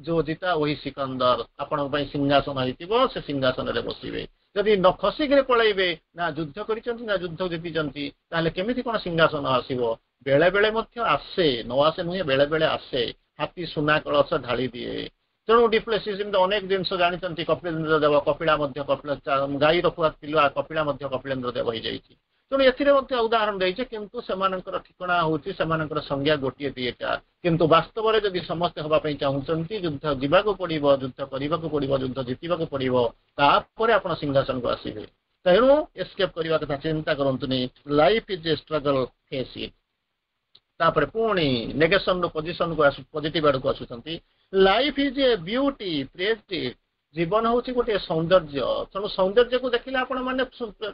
जो जीता वही सिकंदर ଆପଣଙ୍କ ପାଇଁ ସିଂହାସନ ହେଇଥିବ ସେ ସିଂହାସନରେ ବସିବେ ଯଦି ନ ଖସିକିରି ପଳେଇବେ ନା ଯୁଦ୍ଧ କରିଛନ୍ତି ନା ଯୁଦ୍ଧ ଜିତିଛନ୍ତି ତାହେଲେ କେମିତି କଣ ସିଂହାସନ ଆସିବ ବେଳେ ବେଳେ ମଧ୍ୟ ଆସେ ନ ଆସେ ନୁହେଁ ବେଳେ ବେଳେ ଆସେ ହାତୀ ସୁନା କଳସ ଢାଳି ଦିଏ ତେଣୁ ଡିପ୍ଲେସିସ୍ ଯେମିତି ଅନେକ ଜିନିଷ ଜାଣିଛନ୍ତି କପିଳେନ୍ଦ୍ର ଦେବ କପିଳା ମଧ୍ୟ କପିଳ ଗାଈ ରଖୁଆ ପିଲା କପିଳା ମଧ୍ୟ କପିଳେନ୍ଦ୍ର ଦେବ ହେଇଯାଇଛି ତେଣୁ ଏଥିରେ ମଧ୍ୟ ଉଦାହରଣ ଦେଇছে କିନ୍ତୁ ସେମାନଙ୍କର ଠିକଣା ହଉଛି ସେମାନଙ୍କର ସଂଜ୍ଞା ଗୋଟିଏ ଦିଟା କିନ୍ତୁ ବାସ୍ତବରେ ଯଦି ସମସ୍ତେ ହବା ପାଇଁ ଚାହୁଁଛନ୍ତି ଯୁଦ୍ଧ ଯିବାକୁ ପଡିବ ଯୁଦ୍ଧ କରିବାକୁ ପଡିବ ଯୁଦ୍ଧ ଜିତିବାକୁ ପଡିବ ତାପରେ ଆପଣ ସିଂହାସନକୁ ଆସିବେ ତେଣୁ ଏସ୍କେପ୍ କରିବା କଥା ଚିନ୍ତା କରନ୍ତୁନି Life is a struggle face it ତାପରେ ପୁଣି ନେଗେସନରୁ ପଜିସନକୁ ଆସୁ ପଜିଟିଭ ଆଡକୁ ଆସୁଛନ୍ତି Life is a beauty praise it ଜୀବନ ହଉଛି ଗୋଟିଏ ସୌନ୍ଦର୍ଯ୍ୟ ତେଣୁ ସୌନ୍ଦର୍ଯ୍ୟକୁ ଦେଖିଲେ ଆପଣ ମାନେ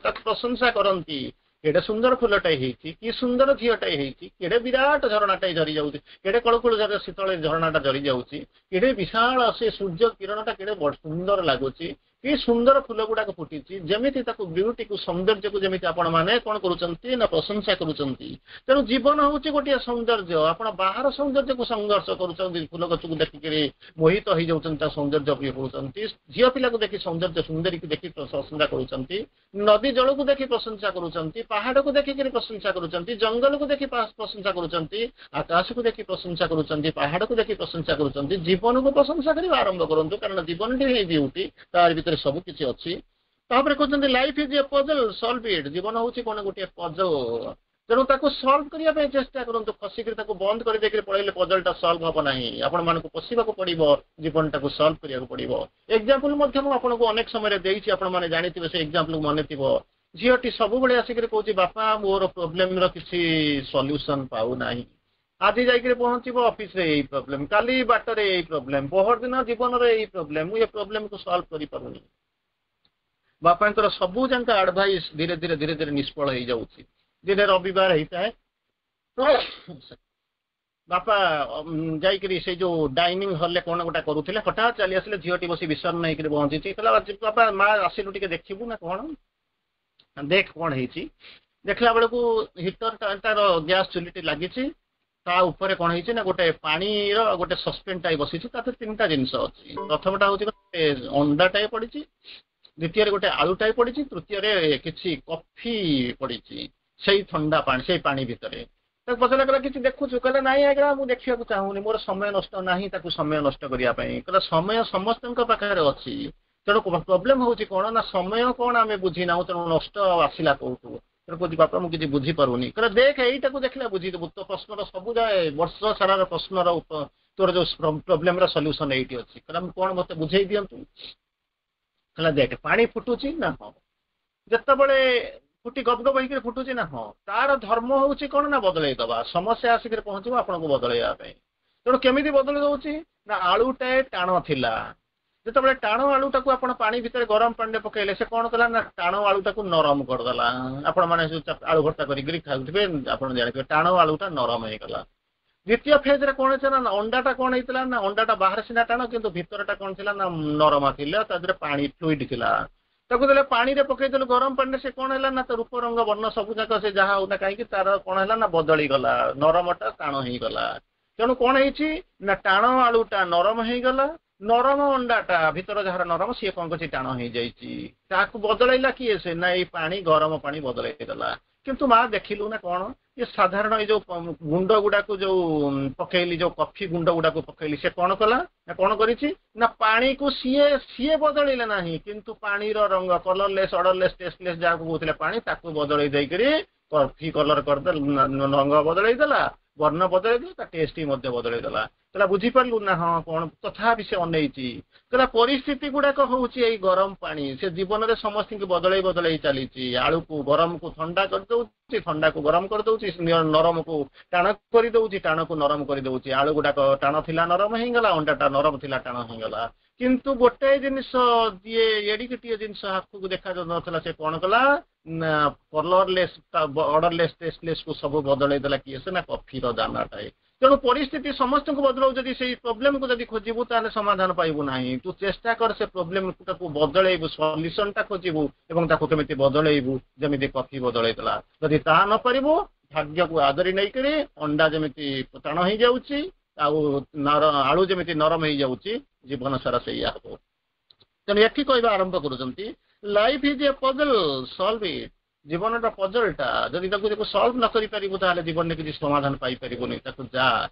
ତାକୁ ପ୍ରଶଂସା କରନ୍ତି କେଡେ ସୁନ୍ଦର ଫୁଲଟାଏ ହେଇଛି କି ସୁନ୍ଦର ଝିଅଟାଏ ହେଇଛି କେଡେ ବିରାଟ ଝରଣାଟାଏ ଝରି ଯାଉଛି କେଡେ କଳକୁଳ ଶୀତଳ ଝରଣାଟା ଝରି ଯାଉଛି କେଡେ ବିଶାଳ ସେ ସୂର୍ଯ୍ୟ କିରଣଟା କେଡେ ସୁନ୍ଦର ଲାଗୁଛି କି ସୁନ୍ଦର ଫୁଲ ଗୁଡାକ ଫୁଟିଛି ଯେମିତି ତାକୁ ବିୟୁଟିକୁ ସୌନ୍ଦର୍ଯ୍ୟକୁ ଯେମିତି ଆପଣ ମାନେ କଣ କରୁଛନ୍ତି ନା ପ୍ରଶଂସା କରୁଛନ୍ତି ତେଣୁ ଜୀବନ ହଉଛି ଗୋଟିଏ ସୌନ୍ଦର୍ଯ୍ୟ ଆପଣ ବାହାର ସୌନ୍ଦର୍ଯ୍ୟକୁ ସଂଘର୍ଷ କରୁଛନ୍ତି ଫୁଲ ଗଛକୁ ଦେଖିକିରି ମୋହିତ ହେଇଯାଉଛନ୍ତି ତା ସୌନ୍ଦର୍ଯ୍ୟ ଇଏ କରୁଛନ୍ତି ଝିଅ ପିଲାକୁ ଦେଖି ସୌନ୍ଦର୍ଯ୍ୟ ସୁନ୍ଦରୀକୁ ଦେଖି ପ୍ରଶଂସା କରୁଛନ୍ତି ନଦୀ ଜଳକୁ ଦେଖି ପ୍ରଶଂସା କରୁଛନ୍ତି ପାହାଡକୁ ଦେଖିକିରି ପ୍ରଶଂସା କରୁଛନ୍ତି ଜଙ୍ଗଲକୁ ଦେଖି ପ୍ରଶଂସା କରୁଛନ୍ତି ଆକାଶକୁ ଦେଖି ପ୍ରଶଂସା କରୁଛନ୍ତି ପାହାଡକୁ ଦେଖି ପ୍ରଶଂସା କରୁଛନ୍ତି ଜୀବନକୁ ପ୍ରଶଂସା କରିବା ଆରମ୍ଭ କରନ୍ତୁ କାରଣ ଜୀବନଟି ହିଁ ବିୟୁଟି ତାର ଭିତରେ ସବୁ କିଛି ଅଛି ତାପରେ କହୁଛନ୍ତି Life is a puzzle solve it ଜୀବନ ହଉଛି କଣ ଗୋଟିଏ ପଜଲ ତେଣୁ ତାକୁ ସଲ୍ଭ କରିବା ପାଇଁ ଚେଷ୍ଟା କରନ୍ତୁ ଖସିକିରି ତାକୁ ବନ୍ଦ କରିଦେଇକିରି ପଳେଇଲେ ପଜଲଟା ସଲ୍ଭ ହବ ନାହିଁ ଆପଣମାନଙ୍କୁ ପଶିବାକୁ ପଡିବ ଜୀବନଟାକୁ ସଲ୍ଭ କରିବାକୁ ପଡିବ ଏକ୍ଜାମ୍ପଲ ମଧ୍ୟ ମୁଁ ଆପଣଙ୍କୁ ଅନେକ ସମୟରେ ଦେଇଛି ଆପଣମାନେ ଜାଣିଥିବେ ସେ ଏକ୍ଜାମ୍ପଲ ମନେ ଥିବ ଝିଅଟି ସବୁବେଳେ ଆସିକିରି କହୁଛି ବାପା ମୋର ପ୍ରୋବ୍ଲେମର କିଛି ସଲ୍ୟୁସନ ପାଉନାହିଁ ଆଜି ଯାଇକିରି ପହଞ୍ଚିବ ଅଫିସରେ ଏଇ ପ୍ରୋବ୍ଲେମ କାଲି ବାଟରେ ଏଇ ପ୍ରୋବ୍ଲେମ ପହରଦିନ ଜୀବନରେ ଏଇ ପ୍ରୋବ୍ଲେମ ମୁଁ ଏ ପ୍ରୋବ୍ଲେମକୁ ସଲ୍ଭ କରିପାରୁନି ବାପାଙ୍କର ସବୁ ଯାକ ଆଡଭାଇସ ଧୀରେ ଧୀରେ ଧୀରେ ଧୀରେ ନିଷ୍ଫଳ ହେଇଯାଉଛି ଦିନେ ରବିବାର ହେଇଥାଏ ବାପା ଯାଇକିରି ସେଇ ଯୋଉ ଡାଇନିଂ ହଲରେ କଣ ଗୋଟେ କରୁଥିଲେ ହଠାତ୍ ଚାଲି ଆସିଲେ ଝିଅଟି ବସି ବିଷଣ୍ଣ ହେଇକିରି ବଞ୍ଚିଛି କହିଲା ବାପା ମା ଆସିଲୁ ଟିକେ ଦେଖିବୁ ନା କଣ ଦେଖ କଣ ହେଇଛି ଦେଖିଲା ବେଳକୁ ହିଟର ତାର ଗ୍ୟାସ ଚୁଲିଟି ଲାଗିଛି ତା ଉପରେ କଣ ହେଇଛି ନା ଗୋଟେ ପାଣିର ଗୋଟେ ସସ୍ପେନ୍ ଟାଇପ ବସିଛି ତା ଦେହରେ ତିନିଟା ଜିନିଷ ଅଛି ପ୍ରଥମଟା ହଉଛି ଗୋଟେ ଅଣ୍ଡାଟାଏ ପଡିଛି ଦ୍ୱିତୀୟରେ ଗୋଟେ ଆଳୁଟାଏ ପଡିଛି ତୃତୀୟରେ କିଛି କଫି ପଡିଛି ସେଇ ଥଣ୍ଡା ପାଣି ସେଇ ପାଣି ଭିତରେ ତାକୁ ପଚାରିଲା କହିଲା କିଛି ଦେଖୁଛୁ କହିଲା ନାଇଁ ଆଜ୍ଞା ମୁଁ ଦେଖିବାକୁ ଚାହୁଁନି ମୋର ସମୟ ନଷ୍ଟ ନାହିଁ ତାକୁ ସମୟ ନଷ୍ଟ କରିବା ପାଇଁ କହିଲା ସମୟ ସମସ୍ତଙ୍କ ପାଖରେ ଅଛି ତେଣୁ ପ୍ରୋବ୍ଲେମ ହଉଛି କଣ ନା ସମୟ କଣ ଆମେ ବୁଝିନାହୁଁ ତେଣୁ ନଷ୍ଟ ଆସିଲା କୋଉଠୁ ତେଣୁ କହୁଛି ବାପା ମୁଁ କିଛି ବୁଝିପାରୁନି କହିଲା ଦେଖ ଏଇଟାକୁ ଦେଖିଲେ ବୁଝିଦେବୁ ତୋ ପ୍ରଶ୍ନର ସବୁ ଯାଏ ବର୍ଷ ସାରାର ପ୍ରଶ୍ନର ତୋର ଯୋଉ ପ୍ରୋବ୍ଲେମର ସଲ୍ୟୁସନ ଏଇଠି ଅଛି କହିଲା ମୁଁ କଣ ମତେ ବୁଝେଇ ଦିଅନ୍ତୁ କହିଲା ଦେଖ ପାଣି ଫୁଟୁଛି ନା ହଁ ଯେତେବେଳେ ଫୁଟି ଗପ ଗପ ହେଇକିରି ଫୁଟୁଛି ନା ହଁ ତାର ଧର୍ମ ହଉଛି କଣ ନା ବଦଳେଇ ଦବା ସମସ୍ୟା ଆସିକିରି ପହଞ୍ଚିବ ଆପଣଙ୍କୁ ବଦଳେଇବା ପାଇଁ ତେଣୁ କେମିତି ବଦଳେଇ ଦଉଛି ନା ଆଳୁଟାଏ ଟାଣ ଥିଲା ଯେତେବେଳେ ଟାଣ ଆଳୁଟାକୁ ଆପଣ ପାଣି ଭିତରେ ଗରମ ପାଣିରେ ପକେଇଲେ ସେ କଣ କଲା ନା ଟାଣ ଆଳୁଟାକୁ ନରମ କରିଦେଲା ଆପଣ ମାନେ ଆଳୁ ଭର୍ତ୍ତା କରିକିରି ଖାଉଥିବେ ଆପଣ ଜାଣିଥିବେ ଟାଣ ଆଳୁଟା ନରମ ହେଇଗଲା ଦ୍ୱିତୀୟ ଫେଜରେ କଣ ହେଇଥିଲା ନା ଅଣ୍ଡାଟା କଣ ହେଇଥିଲା ନା ଅଣ୍ଡାଟା ବାହାରେ ସିନା ଟାଣ କିନ୍ତୁ ଭିତରଟା କଣ ଥିଲା ନା ନରମା ଥିଲା ତା ଦେହରେ ପାଣି ଫ୍ଲୁଇଡ ଥିଲା ତାକୁ ଦେଲେ ପାଣିରେ ପକେଇଦେଲୁ ଗରମ ପାଣିରେ ସେ କଣ ହେଲା ନା ତା ରୂପ ରଙ୍ଗ ବର୍ଣ୍ଣ ସବୁ ଯାକ ସେ ଯାହା ହଉନା କାହିଁକି ତାର କଣ ହେଲା ନା ବଦଳିଗଲା ନରମଟା ଟାଣ ହେଇଗଲା ତେଣୁ କଣ ହେଇଛି ନା ଟାଣ ଆଳୁଟା ନରମ ହେଇଗଲା ନରମ ଅଣ୍ଡାଟା ଭିତର ଯାହାର ନରମ ସିଏ କଣ କରିଛି ଟାଣ ହେଇଯାଇଛି ତାକୁ ବଦଳେଇଲା କିଏ ସେ ନା ଏଇ ପାଣି ଗରମ ପାଣି ବଦଳେଇ ଦେଲା କିନ୍ତୁ ମା ଦେଖିଲୁ ନା କଣ ଏ ସାଧାରଣ ଏଇ ଯୋଉ ଗୁଣ୍ଡ ଗୁଡାକୁ ଯୋଉ ପକେଇଲି ଯୋଉ କଫି ଗୁଣ୍ଡ ଗୁଡାକୁ ପକେଇଲି ସେ କଣ କଲା ନା କଣ କରିଛି ନା ପାଣିକୁ ସିଏ ସିଏ ବଦଳିଲେ ନାହିଁ କିନ୍ତୁ ପାଣିର ରଙ୍ଗ କଲରଲେସ୍ ଅଡରଲେସ୍ ଟେଷ୍ଟଲେସ୍ ଯାହାକୁ କହୁଥିଲେ ପାଣି ତାକୁ ବଦଳେଇ ଦେଇକିରି କଫି କଲର କରିଦେଲା ରଙ୍ଗ ବଦଳେଇ ଦେଲା ବର୍ଣ୍ଣ ବଦଳେଇ ଦେଲା ତା ଟେଷ୍ଟ ବି ମଧ୍ୟ ବଦଳେଇ ଦେଲା କହିଲା ବୁଝିପାରିଲୁ ନା ହଁ କଣ ତଥାପି ସେ ଅନେଇଛି କହିଲା ପରିସ୍ଥିତି ଗୁଡାକ ହଉଛି ଏଇ ଗରମ ପାଣି ସେ ଜୀବନରେ ସମସ୍ତଙ୍କୁ ବଦଳେଇ ବଦଳେଇ ଚାଲିଛି ଆଳୁକୁ ଗରମକୁ ଥଣ୍ଡା କରିଦଉଛି ଥଣ୍ଡାକୁ ଗରମ କରିଦଉଛି ନରମକୁ ଟାଣ କରିଦଉଛି ଟାଣକୁ ନରମ କରିଦଉଛି ଆଳୁ ଗୁଡାକ ଟାଣ ଥିଲା ନରମ ହେଇଗଲା ଅଣ୍ଡାଟା ନରମ ଥିଲା ଟାଣ ହେଇଗଲା କିନ୍ତୁ ଗୋଟାଏ ଜିନିଷ ଯିଏ ଏଡିକିଟିଏ ଜିନିଷ ଆଖୁକୁ ଦେଖାଯାଉନଥିଲା ସେ କଣ କଲା ନା କଲରଲେସ୍ ଅଡରଲେସ୍ ଟେଷ୍ଟଲେସ୍ କୁ ସବୁ ବଦଳେଇ ଦେଲା କିଏ ସେ ନା କଫିର ଦାନାଟାଏ ତେଣୁ ପରିସ୍ଥିତି ସମସ୍ତଙ୍କୁ ବଦଳାଉ ଯଦି ସେଇ ପ୍ରୋବ୍ଲେମକୁ ଯଦି ଖୋଜିବୁ ତାହେଲେ ସମାଧାନ ପାଇବୁ ନାହିଁ ତୁ ଚେଷ୍ଟା କର ସେ ପ୍ରୋବ୍ଲେମଟାକୁ ବଦଳେଇବୁ ସଲ୍ୟୁସନଟା ଖୋଜିବୁ ଏବଂ ତାକୁ କେମିତି ବଦଳେଇବୁ ଯେମିତି କଫି ବଦଳେଇ ଦେଲା ଯଦି ତାହା ନ ପାରିବୁ ଭାଗ୍ୟକୁ ଆଦରି ନେଇକରି ଅଣ୍ଡା ଯେମିତି ଟାଣ ହେଇଯାଉଛି ଆଉ ନର ଆଳୁ ଯେମିତି ନରମ ହେଇଯାଉଛି ଜୀବନ ସାରା ସେଇଆ ହବ ତେଣୁ ଏଠି କହିବା ଆରମ୍ଭ କରୁଛନ୍ତି Life is a puzzle solve it ଜୀବନଟା ପଜଲଟା ଯଦି ତାକୁ ତାକୁ ସଲ୍ଭ ନ କରିପାରିବୁ ତାହେଲେ ଜୀବନରେ କିଛି ସମାଧାନ ପାଇପାରିବୁନି ତାକୁ ଯା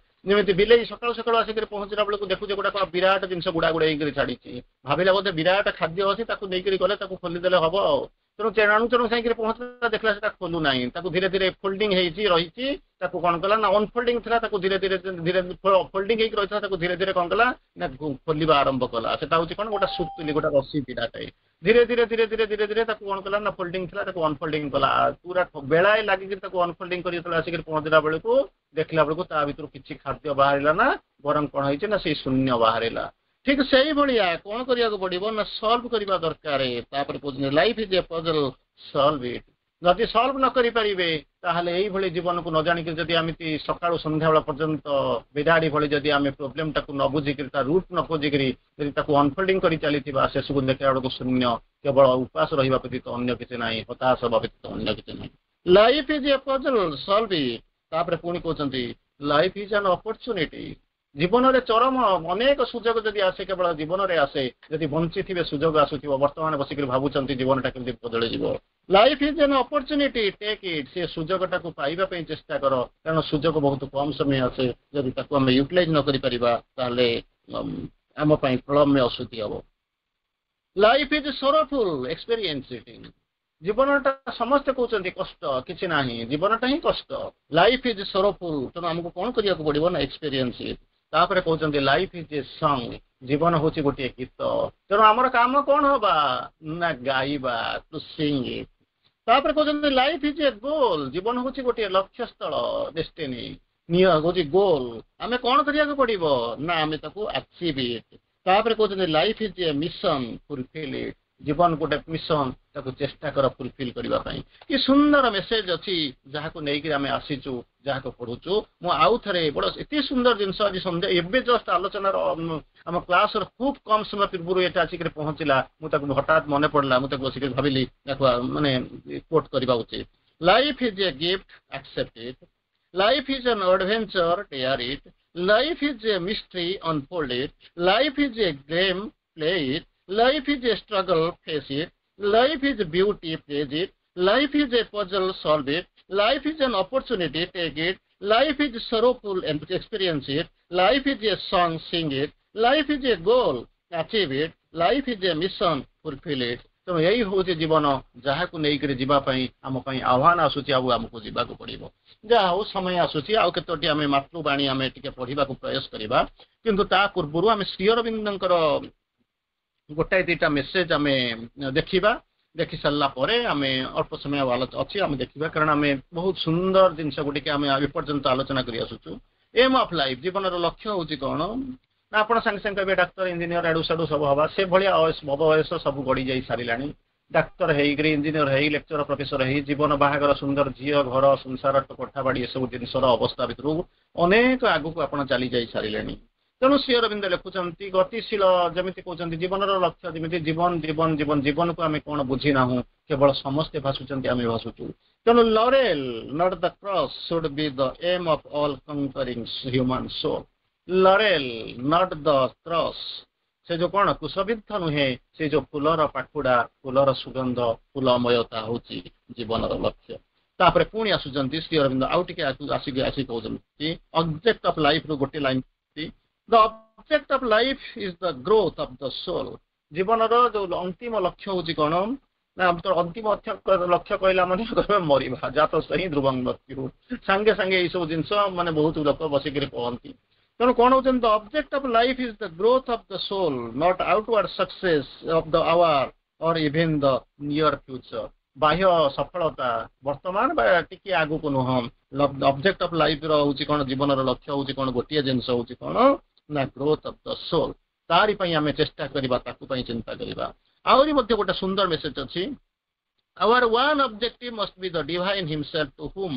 ଯେମିତି ବିଲେଇ ସକାଳୁ ସକାଳୁ ଆସିକରି ପହଞ୍ଚିଲା ବେଳକୁ ଦେଖୁଛି ଗୋଟେ କଣ ବିରାଟ ଜିନିଷ ଗୁଡା ଗୁଡା ହେଇକରି ଛାଡିଛି ଭାବିଲା ବୋଧେ ବିରାଟ ଖାଦ୍ୟ ଅଛି ତାକୁ ନେଇକରି ଗଲେ ତାକୁ ଖୋଲିଦେଲେ ହବ ଆଉ ତେଣୁ ତେଣୁ ତେଣୁ ଯାଇକିରି ପହଞ୍ଚିଲା ଦେଖିଲା ସେଟା ଖୋଲୁ ନାହିଁ ତାକୁ ଧୀରେ ଧୀରେ ଫୋଲ୍ଡିଂ ହେଇଛି ରହିଛି ତାକୁ କଣ କଲା ନା ଅନଫୋଲ୍ଡିଂ ଥିଲା ତାକୁ ଧୀରେ ଧୀରେ ଧୀରେ ଫୋଲ୍ଡିଂ ହେଇକି ରହିଥିଲା ତାକୁ ଧୀରେ ଧୀରେ କଣ କଲା ନା ଖୋଲିବା ଆରମ୍ଭ କଲା ସେଟା ହଉଛି କଣ ଗୋଟେ ସୁତୁଲି ଗୋଟେ ରସି ବିଡ଼ାଟାଏ ଧୀରେ ଧୀରେ ଧୀରେ ଧୀରେ ଧୀରେ ଧୀରେ ତାକୁ କଣ କଲା ନା ଫୋଲ୍ଡିଂ ଥିଲା ତାକୁ ଅନଫୋଲ୍ଡିଂ କଲା ପୁରା ବେଳାଏ ଲାଗିକି ତାକୁ ଅନଫୋଲ୍ଡିଂ କରି ଯେତେବେଳେ ଆସିକି ପହଞ୍ଚିଲା ବେଳକୁ ଦେଖିଲା ବେଳକୁ ତା ଭିତରୁ କିଛି ଖାଦ୍ୟ ବାହାରିଲା ନା ବରଂ କଣ ହେଇଛି ନା ସେଇ ଶୂନ୍ୟ ବାହାରିଲା ଠିକ ସେଇଭଳିଆ କଣ କରିବାକୁ ପଡିବ ନା ସଲ୍ଭ କରିବା ଦରକାର ତାପରେ କହୁଛନ୍ତି Life is a puzzle solve it ଯଦି ସଲ୍ଭ ନ କରିପାରିବେ ତାହେଲେ ଏଇଭଳି ଜୀବନକୁ ନ ଜାଣିକି ଯଦି ଏମିତି ସକାଳୁ ସନ୍ଧ୍ୟାବେଳ ପର୍ଯ୍ୟନ୍ତ ବିରାଡ଼ି ଭଳି ଯଦି ଆମେ ପ୍ରୋବ୍ଲେମଟାକୁ ନ ବୁଝିକିରି ତା ରୁଟ୍ ନ ଖୋଜିକିରି ଯଦି ତାକୁ ଅନଫୋଲ୍ଡିଂ କରି ଚାଲିଥିବା ଶେଷକୁ ଦେଖିଲା ବେଳକୁ ଶୂନ୍ୟ କେବଳ ଉପାସ ରହିବା ବ୍ୟତୀତ ଅନ୍ୟ କିଛି ନାହିଁ ହତାଶ ହେବା ବ୍ୟତୀତ ଅନ୍ୟ କିଛି ନାହିଁ Life is a puzzle solve it ତାପରେ ପୁଣି କହୁଛନ୍ତି Life is an opportunity ଜୀବନରେ ଚରମ ଅନେକ ସୁଯୋଗ ଯଦି ଆସେ କେବଳ ଜୀବନରେ ଆସେ ଯଦି ବଞ୍ଚିଥିବେ ସୁଯୋଗ ଆସୁଥିବ ବର୍ତ୍ତମାନ ବସିକରି ଭାବୁଛନ୍ତି ଜୀବନଟା କେମିତି ବଦଳିଯିବ Life is an opportunity take it ସେ ସୁଯୋଗଟାକୁ ପାଇବା ପାଇଁ ଚେଷ୍ଟା କର କାରଣ ସୁଯୋଗ ବହୁତ କମ ସମୟ ଆସେ ଯଦି ତାକୁ ଆମେ ୟୁଟିଲାଇଜ ନ କରିପାରିବା ତାହେଲେ ଆମ ପାଇଁ ପ୍ରଳମ୍ୟ ଅଶୁଦ୍ଧି ହବ Life is sorrowful experience it ଜୀବନଟା ସମସ୍ତେ କହୁଛନ୍ତି କଷ୍ଟ କିଛି ନାହିଁ ଜୀବନଟା ହିଁ କଷ୍ଟ Life is sorrowful ତେଣୁ ଆମକୁ କଣ କରିବାକୁ ପଡିବ ନା ଏକ୍ସପିରିଏନ୍ସ ଇଟ୍ ତାପରେ କହୁଛନ୍ତି Life is a song ଜୀବନ ହଉଛି ଗୋଟିଏ ଗୀତ ତେଣୁ ଆମର କାମ କଣ ହବା ନା ଗାଇବା ଟୁ ସିଙ୍ଗ ଇଟ୍ ତାପରେ କହୁଛନ୍ତି Life is a goal ଜୀବନ ହଉଛି ଗୋଟିଏ ଲକ୍ଷ୍ୟସ୍ଥଳ ଡେଷ୍ଟିନି ନିୟ ହଉଛି ଗୋଲ ଆମେ କଣ କରିବାକୁ ପଡିବ ନା ଆମେ ତାକୁ ଆଚିଭ୍ ଇଟ୍ ତାପରେ କହୁଛନ୍ତି Life is a mission fulfill it ଜୀବନ ଗୋଟେ ମିଶନ ତାକୁ ଚେଷ୍ଟା କର ଫୁଲଫିଲ୍ କରିବା ପାଇଁ କି ସୁନ୍ଦର ମେସେଜ ଅଛି ଯାହାକୁ ନେଇକି ଆମେ ଆସିଛୁ ଯାହାକୁ ପଢୁଛୁ ମୁଁ ଆଉ ଥରେ ବଡ ଏତେ ସୁନ୍ଦର ଜିନିଷ ଆଜି ସନ୍ଧ୍ୟା ଏବେ ଜଷ୍ଟ ଆଲୋଚନାର ଆମ କ୍ଲାସର ଖୁବ କମ ସମୟ ପୂର୍ବରୁ ଏଇଟା ଆସିକରି ପହଞ୍ଚିଲା ମୁଁ ତାକୁ ହଠାତ୍ ମନେ ପଡିଲା ମୁଁ ତାକୁ ବସିକରି ଭାବିଲି ତାକୁ ମାନେ କୋଟ୍ କରିବା ଉଚିତ Life is a gift accept it Life is an adventure dare it Life is a mystery unfold it Life is a game play it Life is a struggle, face it. Life is beauty, praise it. Life is a puzzle, solve it. Life is an opportunity, take it. Life is sorrowful, and experience it. Life is a song, sing it. Life is a goal, achieve it. Life is a mission, fulfill it. ତେଣୁ ଏଇ ହଉଛି ଜୀବନ ଯାହାକୁ ନେଇକରି ଯିବା ପାଇଁ ଆମ ପାଇଁ ଆହ୍ୱାନ ଆସୁଛି ଆଉ ଆମକୁ ଯିବାକୁ ପଡିବ ଯାହା ହଉ ସମୟ ଆସୁଛି ଆଉ କେତୋଟି ଆମେ ମାତୃବାଣୀ ଆମେ ଟିକେ ପଢିବାକୁ ପ୍ରୟାସ କରିବା କିନ୍ତୁ ତା ପୂର୍ବରୁ ଆମେ ଶ୍ରୀ ଅରବିନ୍ଦଙ୍କର ଗୋଟାଏ ଦିଟା ମେସେଜ ଆମେ ଦେଖିବା ଦେଖି ସାରିଲା ପରେ ଆମେ ଅଳ୍ପ ସମୟ ଅଛି ଆମେ ଦେଖିବା କାରଣ ଆମେ ବହୁତ ସୁନ୍ଦର ଜିନିଷ ଗୁଡ଼ିକ ଆମେ ଏପର୍ଯ୍ୟନ୍ତ ଆଲୋଚନା କରି ଆସୁଛୁ ଏମ୍ ଅଫ୍ ଲାଇଫ୍ ଜୀବନର ଲକ୍ଷ୍ୟ ହଉଛି କଣ ନା ଆପଣ ସାଙ୍ଗେ ସାଙ୍ଗେ କହିବେ ଡାକ୍ତର ଇଞ୍ଜିନିୟର ଆଡୁ ସାଡୁ ସବୁ ହବା ସେଭଳିଆ ବୟସ ସବୁ ଗଡି ଯାଇ ସାରିଲାଣି ଡାକ୍ତର ହେଇକରି ଇଞ୍ଜିନିୟର ହେଇ ଲେକ୍ଚର ପ୍ରଫେସର ହେଇ ଜୀବନ ବାହାଘର ସୁନ୍ଦର ଝିଅ ଘର ସଂସାର କୋଠା ବାଡି ଏସବୁ ଜିନିଷର ଅବସ୍ଥା ଭିତରୁ ଅନେକ ଆଗକୁ ଆପଣ ଚାଲି ଯାଇ ସାରିଲେଣି ତେଣୁ ଶ୍ରୀ ଅରବିନ୍ଦ ଲେଖୁଛନ୍ତି ଗତିଶୀଳ ଯେମିତି କହୁଛନ୍ତି ଜୀବନର ଲକ୍ଷ୍ୟ ଯେମିତି ଜୀବନ ଜୀବନ ଜୀବନ ଜୀବନକୁ ଆମେ କଣ ବୁଝି ନାହୁଁ କେବଳ ସମସ୍ତେ ଭାସୁଛନ୍ତି ଆମେ ଭାସୁଛୁ ତେଣୁ Laurel not the cross should be the aim of all conquering human soul laurel not the cross ସେ ଯୋଉ କଣ କୁଶବିଦ୍ଧ ନୁହେଁ ସେ ଯୋଉ ଫୁଲର ପାଖୁଡା ଫୁଲର ସୁଗନ୍ଧ ଫୁଲମୟତା ହଉଛି ଜୀବନର ଲକ୍ଷ୍ୟ ତାପରେ ପୁଣି ଆସୁଛନ୍ତି ଶ୍ରୀ ଅରବିନ୍ଦ ଆଉ ଟିକେ ଆସିକି ଆସିକି କହୁଛନ୍ତି ଅବଜେକ୍ଟ ଅଫ ଲାଇଫ ରୁ ଗୋଟେ line The object of life is the growth of the soul ଜୀବନର ଯୋଉ ଅନ୍ତିମ ଲକ୍ଷ୍ୟ ହଉଛି କଣ ନା ଅନ୍ତିମ ଲକ୍ଷ୍ୟ କହିଲା ମାନେ ମରିବା ଜାତସ୍ୟ ହି ଧ୍ରୁବଂ ମୃତ୍ୟୁ ସାଙ୍ଗେ ସାଙ୍ଗେ ଏଇ ସବୁ ଜିନିଷ ମାନେ ବହୁତ ଲୋକ ବସିକିରି କହନ୍ତି ତେଣୁ କଣ ହଉଛନ୍ତି The object of life is the growth of the soul not outward success of the hour or even the near future ବାହ୍ୟ ସଫଳତା ବର୍ତ୍ତମାନ ବା ଟିକେ ଆଗକୁ ନୁହଁ ଅବଜେକ୍ଟ ଅଫ ଲାଇଫ ର ହଉଛି କଣ ଜୀବନର ଲକ୍ଷ୍ୟ ହଉଛି କଣ ଗୋଟିଏ ଜିନିଷ ହଉଛି କଣ ନା ଗ୍ରୋଥ ଅଫ the sole ତାରି ପାଇଁ ଆମେ ଚେଷ୍ଟା କରିବା ତାକୁ ପାଇଁ ଚିନ୍ତା କରିବା ଆହୁରି ମଧ୍ୟ ଗୋଟେ ସୁନ୍ଦର ମେସେଜ ଅଛି Our one objective must be the Divine Himself to whom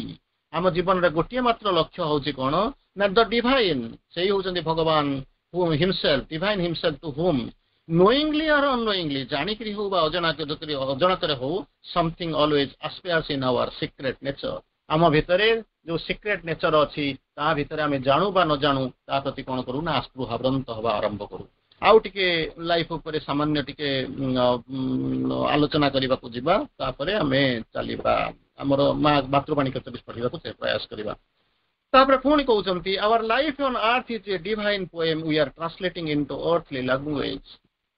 ଆମ ଜୀବନରେ ଗୋଟିଏ ମାତ୍ର ଲକ୍ଷ୍ୟ ହଉଛି କଣ ନା ଦ ଡିଭାଇନ୍ ସେଇ ହଉଛନ୍ତି ଭଗବାନ himself Divine Himself to whom knowingly or unknowingly ଜାଣିକିରି ହଉ ବା ଅଜଣା ଅଜଣାତରେ ହଉ something always aspires in our secret nature ଆମ ଭିତରେ ଯୋଉ ସିକ୍ରେଟ ନେଚର ଅଛି ତା ଭିତରେ ଆମେ ଜାଣୁ ବା ନ ଜାଣୁ ତା ପ୍ରତି କଣ କରୁ ନା ଆସ୍ପୃହାବ୍ରନ୍ତ ହବା ଆରମ୍ଭ କରୁ ଆଉ ଟିକେ ଲାଇଫ ଉପରେ ସାମାନ୍ୟ ଟିକେ ଆଲୋଚନା କରିବାକୁ ଯିବା ତାପରେ ଆମେ ଚାଲିବା ଆମର ମା ମାତୃବାଣୀ କେତୋଟି ପଢିବାକୁ ପ୍ରୟାସ କରିବା ତାପରେ ପୁଣି କହୁଛନ୍ତି Our life on earth is a divine poem we are translating into earthly language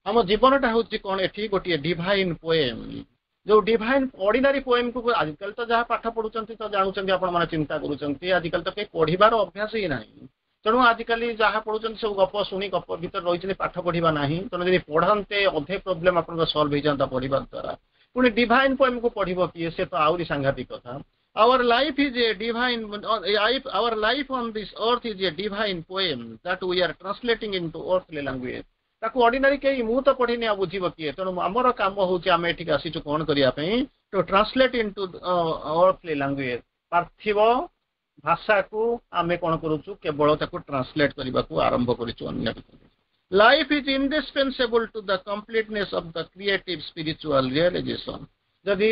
ଆମ ଜୀବନଟା ହଉଛି କଣ ଏଠି ଗୋଟିଏ ଡିଭାଇନ ପୋଏମ ଯୋଉ ଡିଭାଇନ ଅର୍ଡିନାରୀ ପୋଏମକୁ ଆଜିକାଲି ତ ଯାହା ପାଠ ପଢୁଛନ୍ତି ତ ଜାଣୁଛନ୍ତି ଆପଣ ମାନେ ଚିନ୍ତା କରୁଛନ୍ତି ଆଜିକାଲି ତ କେହି ପଢିବାର ଅଭ୍ୟାସ ହିଁ ନାହିଁ ତେଣୁ ଆଜିକାଲି ଯାହା ପଢୁଛନ୍ତି ସବୁ ଗପ ଶୁଣି ଗପ ଭିତରେ ରହିଛନ୍ତି ପାଠ ପଢିବା ନାହିଁ ତେଣୁ ଯଦି ପଢନ୍ତେ ଅଧେ ପ୍ରୋବ୍ଲେମ ଆପଣଙ୍କ ସଲ୍ଭ ହେଇଯାନ୍ତା ପଢିବା ଦ୍ୱାରା ପୁଣି ଡିଭାଇନ ପୋଏମକୁ ପଢିବ କିଏ ସେ ତ ଆହୁରି ସାଂଘାତିକ କଥା Our life is a divine, our life on this earth is a divine poem that we are translating into earthly language. ତାକୁ ଅର୍ଡିନାରୀ କେହି ମୁଁ ତ ପଢିନି ଆଉ ବୁଝିବ କିଏ ତେଣୁ ଆମର କାମ ହଉଛି ଆମେ ଏଠିକି ଆସିଛୁ କଣ କରିବା ପାଇଁ to translate into earthly language ପାର୍ଥିବ ଭାଷାକୁ ଆମେ କଣ କରୁଛୁ କେବଳ ତାକୁ ଟ୍ରାନ୍ସଲେଟ କରିବାକୁ ଆରମ୍ଭ କରିଛୁ ଅନ୍ୟ Life is indispensable to the completeness of the creative spiritual realization ଯଦି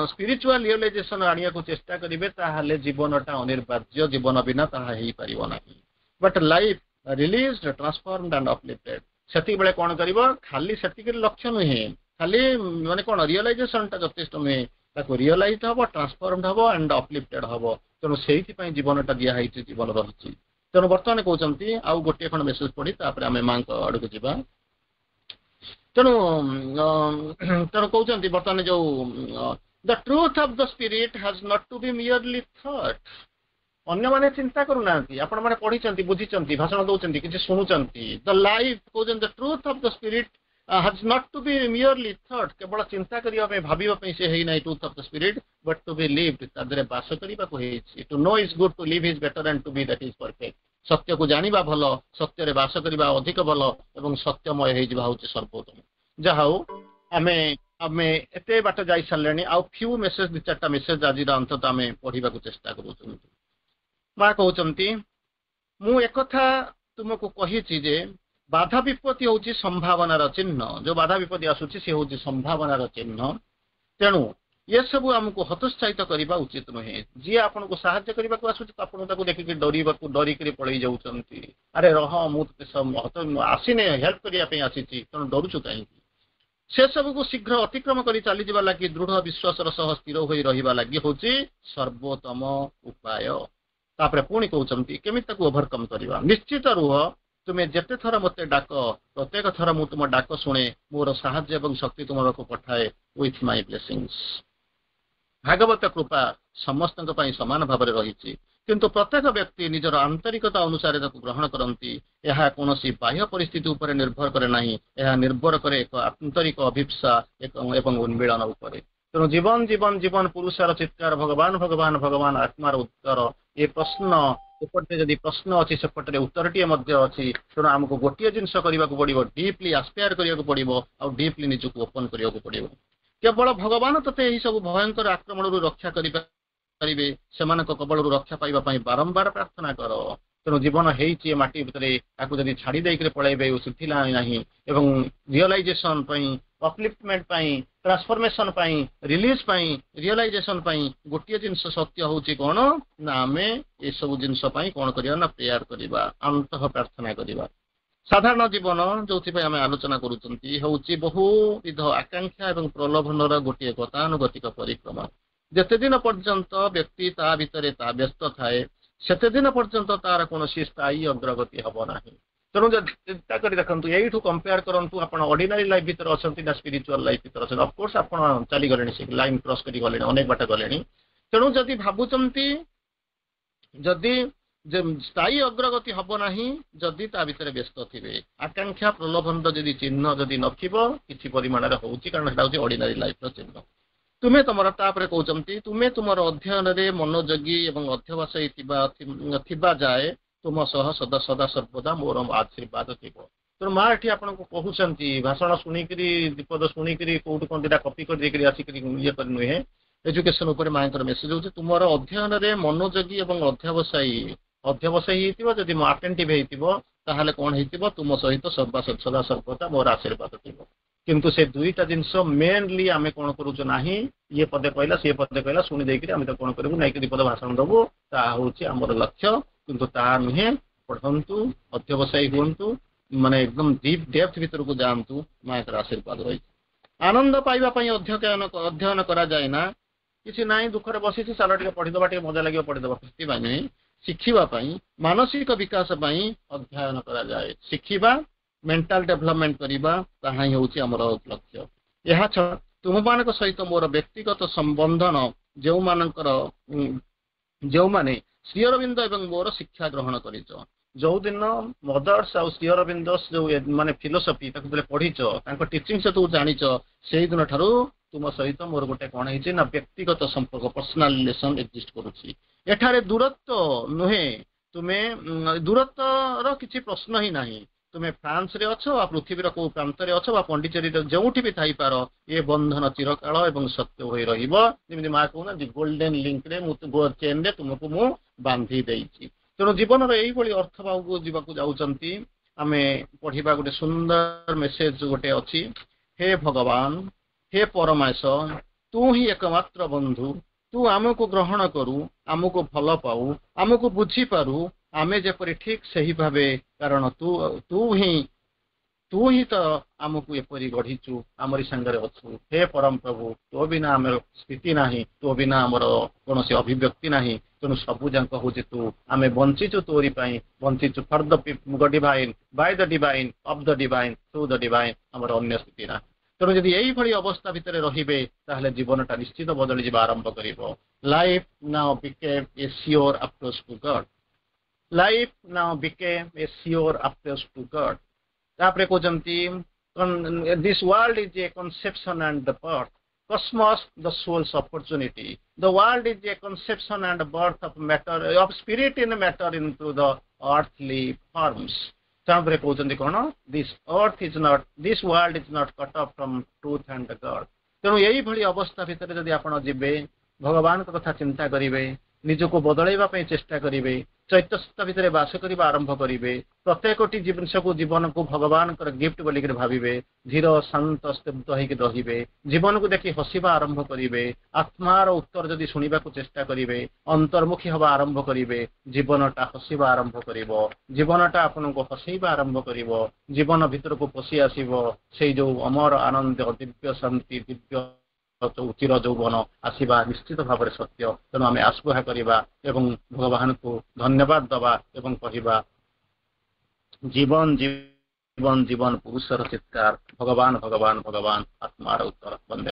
ସ୍ପିରିଚୁଆଲ ରିଅଲାଇଜେସନ ଆଣିବାକୁ ଚେଷ୍ଟା କରିବେ ତାହେଲେ ଜୀବନଟା ଅନିବାର୍ଯ୍ୟ ଜୀବନ ବିନା ତାହା ହେଇପାରିବ ନାହିଁ but life released transformed and uplifted ସେତିକି କଣ କରିବ ଖାଲି ସେତିକିରେ ଲକ୍ଷ୍ୟ ନୁହେଁ ଖାଲି ମାନେ କଣ ରିଅଲାଇଜେସନଟା ଯଥେଷ୍ଟ ନୁହେଁ ତାକୁ ରିଅଲାଇଜ ହବ ଟ୍ରାନ୍ସଫର୍ମଡ ହବ ଆଣ୍ଡ ଅପଲିଫ୍ଟେଡ ହବ ତେଣୁ ସେଇଥିପାଇଁ ଜୀବନଟା ଦିଆହେଇଛି ଜୀବନ ରହିଛି ତେଣୁ ବର୍ତ୍ତମାନ କହୁଛନ୍ତି ଆଉ ଗୋଟିଏ ଖଣ୍ଡ ମେସେଜ ପଢି ତାପରେ ଆମେ ମାଙ୍କ ଆଡକୁ ଯିବା ତେଣୁ ତେଣୁ କହୁଛନ୍ତି ବର୍ତ୍ତମାନ ଯୋଉ the truth of the spirit has not to be merely thought ଅନ୍ୟମାନେ ଚିନ୍ତା କରୁନାହାନ୍ତି ଆପଣମାନେ ପଢିଛନ୍ତି ବୁଝିଛନ୍ତି ଭାଷଣ ଦଉଛନ୍ତି କିଛି ଶୁଣୁଛନ୍ତି ଦ ଲାଇଫ କହୁଛନ୍ତି the truth of the spirit has not to be merely thought କେବଳ ଚିନ୍ତା କରିବା ପାଇଁ ଭାବିବା ପାଇଁ ସେ ହେଇନାହିଁ truth of the spirit but to be lived ତା ଦେହରେ ବାସ କରିବାକୁ ହେଇଛି to know is good to live is better and to be that is perfect ସତ୍ୟକୁ ଜାଣିବା ଭଲ ସତ୍ୟରେ ବାସ କରିବା ଅଧିକ ଭଲ ଏବଂ ସତ୍ୟମୟ ହେଇଯିବା ହଉଛି ସର୍ବୋତ୍ତମ ଯାହା ହଉ ଆମେ ଆମେ ଏତେ ବାଟ ଯାଇ ସାରିଲେଣି ଆଉ ଫ୍ୟୁ ମେସେଜ ଦି ଚାରିଟା ମେସେଜ ଆଜିର ଅନ୍ତତଃ ଆମେ ପଢିବାକୁ ଚେଷ୍ଟା କରୁଛନ୍ତି ମା କହୁଛନ୍ତି ମୁଁ ଏକଥା ତୁମକୁ କହିଛି ଯେ ବାଧା ବିପତ୍ତି ହଉଛି ସମ୍ଭାବନାର ଚିହ୍ନ ଯୋଉ ବାଧା ବିପତ୍ତି ଆସୁଛି ସେ ହଉଛି ସମ୍ଭାବନାର ଚିହ୍ନ ତେଣୁ ଏସବୁ ଆମକୁ ହତୋତ୍ସାହିତ କରିବା ଉଚିତ ନୁହେଁ ଯିଏ ଆପଣଙ୍କୁ ସାହାଯ୍ୟ କରିବାକୁ ଆସୁଛି ଆପଣ ତାକୁ ଦେଖିକି ଡରିବାକୁ ଡରିକିରି ପଳେଇ ଯାଉଛନ୍ତି ଆରେ ରହ ମୁଁ ଆସିନେ ହେଲ୍ପ କରିବା ପାଇଁ ଆସିଛି ତେଣୁ ଡରୁଛୁ କାହିଁକି ସେସବୁକୁ ଶୀଘ୍ର ଅତିକ୍ରମ କରି ଚାଲିଯିବା ଲାଗି ଦୃଢ ବିଶ୍ୱାସର ସହ ସ୍ଥିର ହୋଇ ରହିବା ଲାଗି ହଉଛି ସର୍ବୋତ୍ତମ ଉପାୟ ତାପରେ ପୁଣି କହୁଛନ୍ତି କେମିତି ତାକୁ ଓଭରକମ୍ କରିବା ନିଶ୍ଚିତ ରୁହ ତୁମେ ଯେତେ ଥର ମୋତେ ଡାକ ପ୍ରତ୍ୟେକ ଥର ମୁଁ ତୁମ ଡାକ ଶୁଣେ ମୋର ସାହାଯ୍ୟ ଏବଂ ଶକ୍ତି ତୁମକୁ ପଠାଏ ୱିଥ୍ my ବ୍ଲେସିଂସ୍ ଭାଗବତ କୃପା ସମସ୍ତଙ୍କ ପାଇଁ ସମାନ ଭାବରେ ରହିଛି କିନ୍ତୁ ପ୍ରତ୍ୟେକ ବ୍ୟକ୍ତି ନିଜର ଆନ୍ତରିକତା ଅନୁସାରେ ତାକୁ ଗ୍ରହଣ କରନ୍ତି ଏହା କୌଣସି ବାହ୍ୟ ପରିସ୍ଥିତି ଉପରେ ନିର୍ଭର କରେ ନାହିଁ ଏହା ନିର୍ଭର କରେ ଏକ ଆନ୍ତରିକ ଅଭିପ୍ସା ଏବଂ ଉନ୍ମୀଳନ ଉପରେ ତେଣୁ ଜୀବନ ଜୀବନ ଜୀବନ ପୁରୁଷର ଚିତ୍କାର ଭଗବାନ ଭଗବାନ ଭଗବାନ ଆତ୍ମାର ଉତ୍ତର ଏ ପ୍ରଶ୍ନ ଏପଟେ ଯଦି ପ୍ରଶ୍ନ ଅଛି ସେପଟରେ ଉତ୍ତରଟିଏ ମଧ୍ୟ ଅଛି ତେଣୁ ଆମକୁ ଗୋଟିଏ ଜିନିଷ କରିବାକୁ ପଡିବ ଡିପଲି ଆସ୍ପାୟାର କରିବାକୁ ପଡିବ ଆଉ ଡିପଲି ନିଜକୁ ଓପନ କରିବାକୁ ପଡିବ କେବଳ ଭଗବାନ ତତେ ଏହି ସବୁ ଭୟଙ୍କର ଆକ୍ରମଣରୁ ରକ୍ଷା କରିପାରିବେ ସେମାନଙ୍କ କବଳରୁ ରକ୍ଷା ପାଇବା ପାଇଁ ବାରମ୍ବାର ପ୍ରାର୍ଥନା କର ତେଣୁ ଜୀବନ ହେଇଛି ଏ ମାଟି ଭିତରେ ତାକୁ ଯଦି ଛାଡି ଦେଇକରି ପଳେଇବେ ଶୁଖିଲା ନାହିଁ ଏବଂ ରିଅଲାଇଜେସନ ପାଇଁ ଅପଲିଫ୍ଟମେଣ୍ଟ ପାଇଁ ଟ୍ରାନ୍ସଫର୍ମେସନ ପାଇଁ ରିଲିଜ ପାଇଁ ରିଅଲାଇଜେସନ ପାଇଁ ଗୋଟିଏ ଜିନିଷ ସତ୍ୟ ହଉଛି କଣ ନା ଆମେ ଏସବୁ ଜିନିଷ ପାଇଁ କଣ କରିବା ନା ପ୍ରେୟାର କରିବା ଅନ୍ତଃ ପ୍ରାର୍ଥନା କରିବା ସାଧାରଣ ଜୀବନ ଯୋଉଥିପାଇଁ ଆମେ ଆଲୋଚନା କରୁଛନ୍ତି ହଉଛି ବହୁବିଧ ଆକାଂକ୍ଷା ଏବଂ ପ୍ରଲୋଭନର ଗୋଟିଏ ଗତାନୁଗତିକ ପରିକ୍ରମା ଯେତେ ଦିନ ପର୍ଯ୍ୟନ୍ତ ବ୍ୟକ୍ତି ତା ଭିତରେ ତା ବ୍ୟସ୍ତ ଥାଏ ସେତେ ଦିନ ପର୍ଯ୍ୟନ୍ତ ତାର କୌଣସି ସ୍ଥାୟୀ ଅଗ୍ରଗତି ହବ ନାହିଁ ତେଣୁ ଯଦି ଚିନ୍ତା କରି ଦେଖନ୍ତୁ ଏଇଠୁ କମ୍ପେୟାର କରନ୍ତୁ ଆପଣ ଅର୍ଡିନାରୀ ଲାଇଫ ଭିତରେ ଅଛନ୍ତି ନା ସ୍ପିରିଚୁଆଲ ଲାଇଫ ଭିତରେ ଅଛନ୍ତି ଅଫକୋର୍ସ ଆପଣ ଚାଲିଗଲେଣି ସେ ଲାଇନ କ୍ରସ୍ କରି ଗଲେଣି ଅନେକ ବାଟ ଗଲେଣି ତେଣୁ ଯଦି ଭାବୁଛନ୍ତି ଯଦି ଯେ ସ୍ଥାୟୀ ଅଗ୍ରଗତି ହବ ନାହିଁ ଯଦି ତା ଭିତରେ ବ୍ୟସ୍ତ ଥିବେ ଆକାଂକ୍ଷା ପ୍ରଲୋଭନର ଯଦି ଚିହ୍ନ ଯଦି ନଥିବ କିଛି ପରିମାଣରେ ହଉଛି କାରଣ ସେଟା ହଉଛି ଅର୍ଡିନାରୀ ଲାଇଫର ଚିହ୍ନ ତୁମେ ତମର ତାପରେ କହୁଛନ୍ତି ତୁମେ ତୁମର ଅଧ୍ୟୟନରେ ମନୋଯୋଗୀ ଏବଂ ଅଧ୍ୟବସାୟୀ ଥିବା ଥିବା ଯାଏ ତୁମ ସହ ସଦା ସଦା ସର୍ବଦା ମୋର ଆଶୀର୍ବାଦ ଥିବ ତେଣୁ ମା ଏଠି ଆପଣଙ୍କୁ କହୁଛନ୍ତି ଭାଷଣ ଶୁଣିକିରି ବିପଦ ଶୁଣିକିରି କୋଉଠୁ କଣ ଦିଟା କପି କରିଦେଇକିରି ଆସିକିରି ଇଏ କରି ନୁହେଁ ଏଜୁକେସନ ଉପରେ ମାଙ୍କର ମେସେଜ ହଉଛି ତୁମର ଅଧ୍ୟୟନରେ ମନୋଯୋଗୀ ଏବଂ ଅଧ୍ୟବସାୟୀ ଅଧ୍ୟବସାୟୀ ହେଇଥିବ ଯଦି ଆଟେଣ୍ଟିଭ ହେଇଥିବ ତାହେଲେ କଣ ହେଇଥିବ ତୁମ ସହିତ ସର୍ବା ସଦା ସର୍ବଦା ମୋର ଆଶୀର୍ବାଦ ଥିବ କିନ୍ତୁ ସେ ଦୁଇଟା ଜିନିଷ ମେନଲି ଆମେ କଣ କରୁଛୁ ନାହିଁ ଇଏ ପଦେ କହିଲା ସିଏ ପଦେ କହିଲା ଶୁଣି ଦେଇକିରି ଆମେ ତ କଣ କରିବୁ ନାଇକି ଦି ପଦ ଭାଷଣ ଦବୁ ତାହା ହଉଛି ଆମର ଲକ୍ଷ୍ୟ କିନ୍ତୁ ତାହା ନୁହେଁ ପଢନ୍ତୁ ଅଧ୍ୟବସାୟୀ ହୁଅନ୍ତୁ ମାନେ ଏକଦମ ଡିପ୍ ଡେପ୍ଥ ଭିତରକୁ ଯାଆନ୍ତୁ ମାଙ୍କର ଆଶୀର୍ବାଦ ରହିଛି ଆନନ୍ଦ ପାଇବା ପାଇଁ ଅଧ୍ୟୟନ ଅଧ୍ୟୟନ କରାଯାଏ ନା କିଛି ନାହିଁ ଦୁଃଖରେ ବସିଛି ଚାଲ ଟିକେ ପଢିଦବା ଟିକେ ମଜା ଲାଗିବ ପଢିଦବା ସେଥିପାଇଁ ନୁହେଁ ଶିଖିବା ପାଇଁ ମାନସିକ ବିକାଶ ପାଇଁ ଅଧ୍ୟୟନ କରାଯାଏ ଶିଖିବା ମେଣ୍ଟାଲ ଡେଭଲପମେଣ୍ଟ କରିବା ତାହା ହିଁ ହେଉଛି ଆମର ଲକ୍ଷ୍ୟ ଏହା ଛଡ଼ା ତୁମମାନଙ୍କ ସହିତ ମୋର ବ୍ୟକ୍ତିଗତ ସମ୍ବନ୍ଧନ ଯେଉଁମାନଙ୍କର ଯେଉଁମାନେ ଶ୍ରୀ ଅରବିନ୍ଦ ଏବଂ ମୋର ଶିକ୍ଷା ଗ୍ରହଣ କରିଛ ଯୋଉଦିନ ମଦର୍ସ ଆଉ ଶ୍ରୀ ଅରବିନ୍ଦ ଯୋଉ ମାନେ ଫିଲୋସଫି ତାକୁ ଯେତେବେଳେ ପଢିଛ ତାଙ୍କ ଟିଚିଂ ତୁ ଜାଣିଛ ସେଇଦିନ ଠାରୁ ତୁମ ସହିତ ମୋର ଗୋଟେ କଣ ହେଇଛି ନା ବ୍ୟକ୍ତିଗତ ସମ୍ପର୍କ ପର୍ସନାଲ ରିଲେସନ ଏକ୍ଜିଷ୍ଟ କରୁଛି ଏଠାରେ ଦୂରତ୍ୱ ନୁହେଁ ତୁମେ ଦୂରତ୍ୱର କିଛି ପ୍ରଶ୍ନ ହିଁ ନାହିଁ ତୁମେ ଫ୍ରାନ୍ସରେ ଅଛ ବା ପୃଥିବୀର କୋଉ ପ୍ରାନ୍ତରେ ଅଛ ବା ପଣ୍ଡିଚେରୀର ଯେଉଁଠି ବି ଥାଇପାର, ଏ ବନ୍ଧନ ଚିରକାଳ ଏବଂ ସତ୍ୟ ହୋଇ ରହିବ। ଯେମିତି ମା କହୁନାହାନ୍ତି, ଗୋଲ୍ଡେନ ଲିଙ୍କରେ ମୁଁ, ଚେନରେ ତୁମକୁ ମୁଁ ବାନ୍ଧି ଦେଇଛି। ତେଣୁ ଜୀବନର ଏଇଭଳି ଅର୍ଥ ଭାବକୁ ଯିବାକୁ ଯାଉଛନ୍ତି। ଆମେ ପଢିବା, ଗୋଟେ ସୁନ୍ଦର ମେସେଜ ଗୋଟେ ଅଛି। ହେ ଭଗବାନ, ହେ ପରମେଶ, ତୁ ହିଁ ଏକମାତ୍ର ବନ୍ଧୁ। ତୁ ଆମକୁ ଗ୍ରହଣ କରୁ, ଆମକୁ ଭଲ ପାଉ, ଆମକୁ ବୁଝିପାରୁ, ଆମେ ଯେପରି ଠିକ ସେହି ଭାବେ, କାରଣ ତୁ ତୁ ହିଁ ତୁ ହିଁ ତ ଆମକୁ ଏପରି ଗଢିଛୁ, ଆମରି ସାଙ୍ଗରେ ଅଛୁ। ହେ ପରମ ପ୍ରଭୁ, ତୋ ବିନା ଆମର ସ୍ଥିତି ନାହିଁ, ତୋ ବିନା ଆମର କୌଣସି ଅଭିବ୍ୟକ୍ତି ନାହିଁ। ତେଣୁ ସବୁ ଯାକ ହଉଛି ତୁ। ଆମେ ବଞ୍ଚିଛୁ ତୋରି ପାଇଁ ବଞ୍ଚିଛୁ। For the divine, by the divine, of the divine, through the divine, ଆମର ଅନ୍ୟ ସ୍ଥିତି ନାହିଁ। ତେଣୁ ଯଦି ଏଇଭଳି ଅବସ୍ଥା ଭିତରେ ରହିବେ, ତାହେଲେ ଜୀବନଟା ନିଶ୍ଚିତ ବଦଳିଯିବା ଆରମ୍ଭ କରିବ। Life now became a sure approach to God. Life now became a sure approach to God. ତାପରେ କହୁଛନ୍ତି, this world is a conception and the birth, cosmos the soul's opportunity. The world is a conception and birth of matter, of spirit in matter into the earthly forms. ତାପରେ କହୁଛନ୍ତି କଣ? This earth is not, this world is not cut off from truth and God. ତେଣୁ ଏଇଭଳି ଅବସ୍ଥା ଭିତରେ ଯଦି ଆପଣ ଯିବେ, ଭଗବାନଙ୍କ କଥା ଚିନ୍ତା କରିବେ, ନିଜକୁ ବଦଳାଇବା ପାଇଁ ଚେଷ୍ଟା କରିବେ, ଚୈତନ୍ୟ ଭିତରେ ବାସ କରିବା ଆରମ୍ଭ କରିବେ, ପ୍ରତ୍ୟେକଟି ଜିନିଷକୁ, ଜୀବନକୁ ଭଗବାନଙ୍କର ଗିଫ୍ଟ ବୋଲିକିରି ଭାବିବେ, ଧୀର ଶାନ୍ତ ସ୍ତବ୍ଧ ହେଇକି ରହିବେ, ଜୀବନକୁ ଦେଖି ହସିବା ଆରମ୍ଭ କରିବେ, ଆତ୍ମାର ଉତ୍ତର ଯଦି ଶୁଣିବାକୁ ଚେଷ୍ଟା କରିବେ, ଅନ୍ତର୍ମୁଖୀ ହବା ଆରମ୍ଭ କରିବେ, ଜୀବନଟା ହସିବା ଆରମ୍ଭ କରିବ। ଜୀବନଟା ଆପଣଙ୍କୁ ହସେଇବା ଆରମ୍ଭ କରିବ। ଜୀବନ ଭିତରକୁ ପଶି ଆସିବ ସେଇ ଯୋଉ ଅମର ଆନନ୍ଦ, ଦିବ୍ୟ ଶାନ୍ତି, ଦିବ୍ୟ ଚିର ଯୌବନ ଆସିବା ନିଶ୍ଚିତ ଭାବରେ ସତ୍ୟ। ତେଣୁ ଆମେ ଆସ୍ପୃହା କରିବା ଏବଂ ଭଗବାନଙ୍କୁ ଧନ୍ୟବାଦ ଦବା ଏବଂ କହିବା, ଜୀବନ ଜୀବନ ଜୀବନ ପୁରୁଷର ଚିତ୍କାର, ଭଗବାନ ଭଗବାନ ଭଗବାନ, ଆତ୍ମାର ଉତ୍ତର। ବନ୍ଦେ।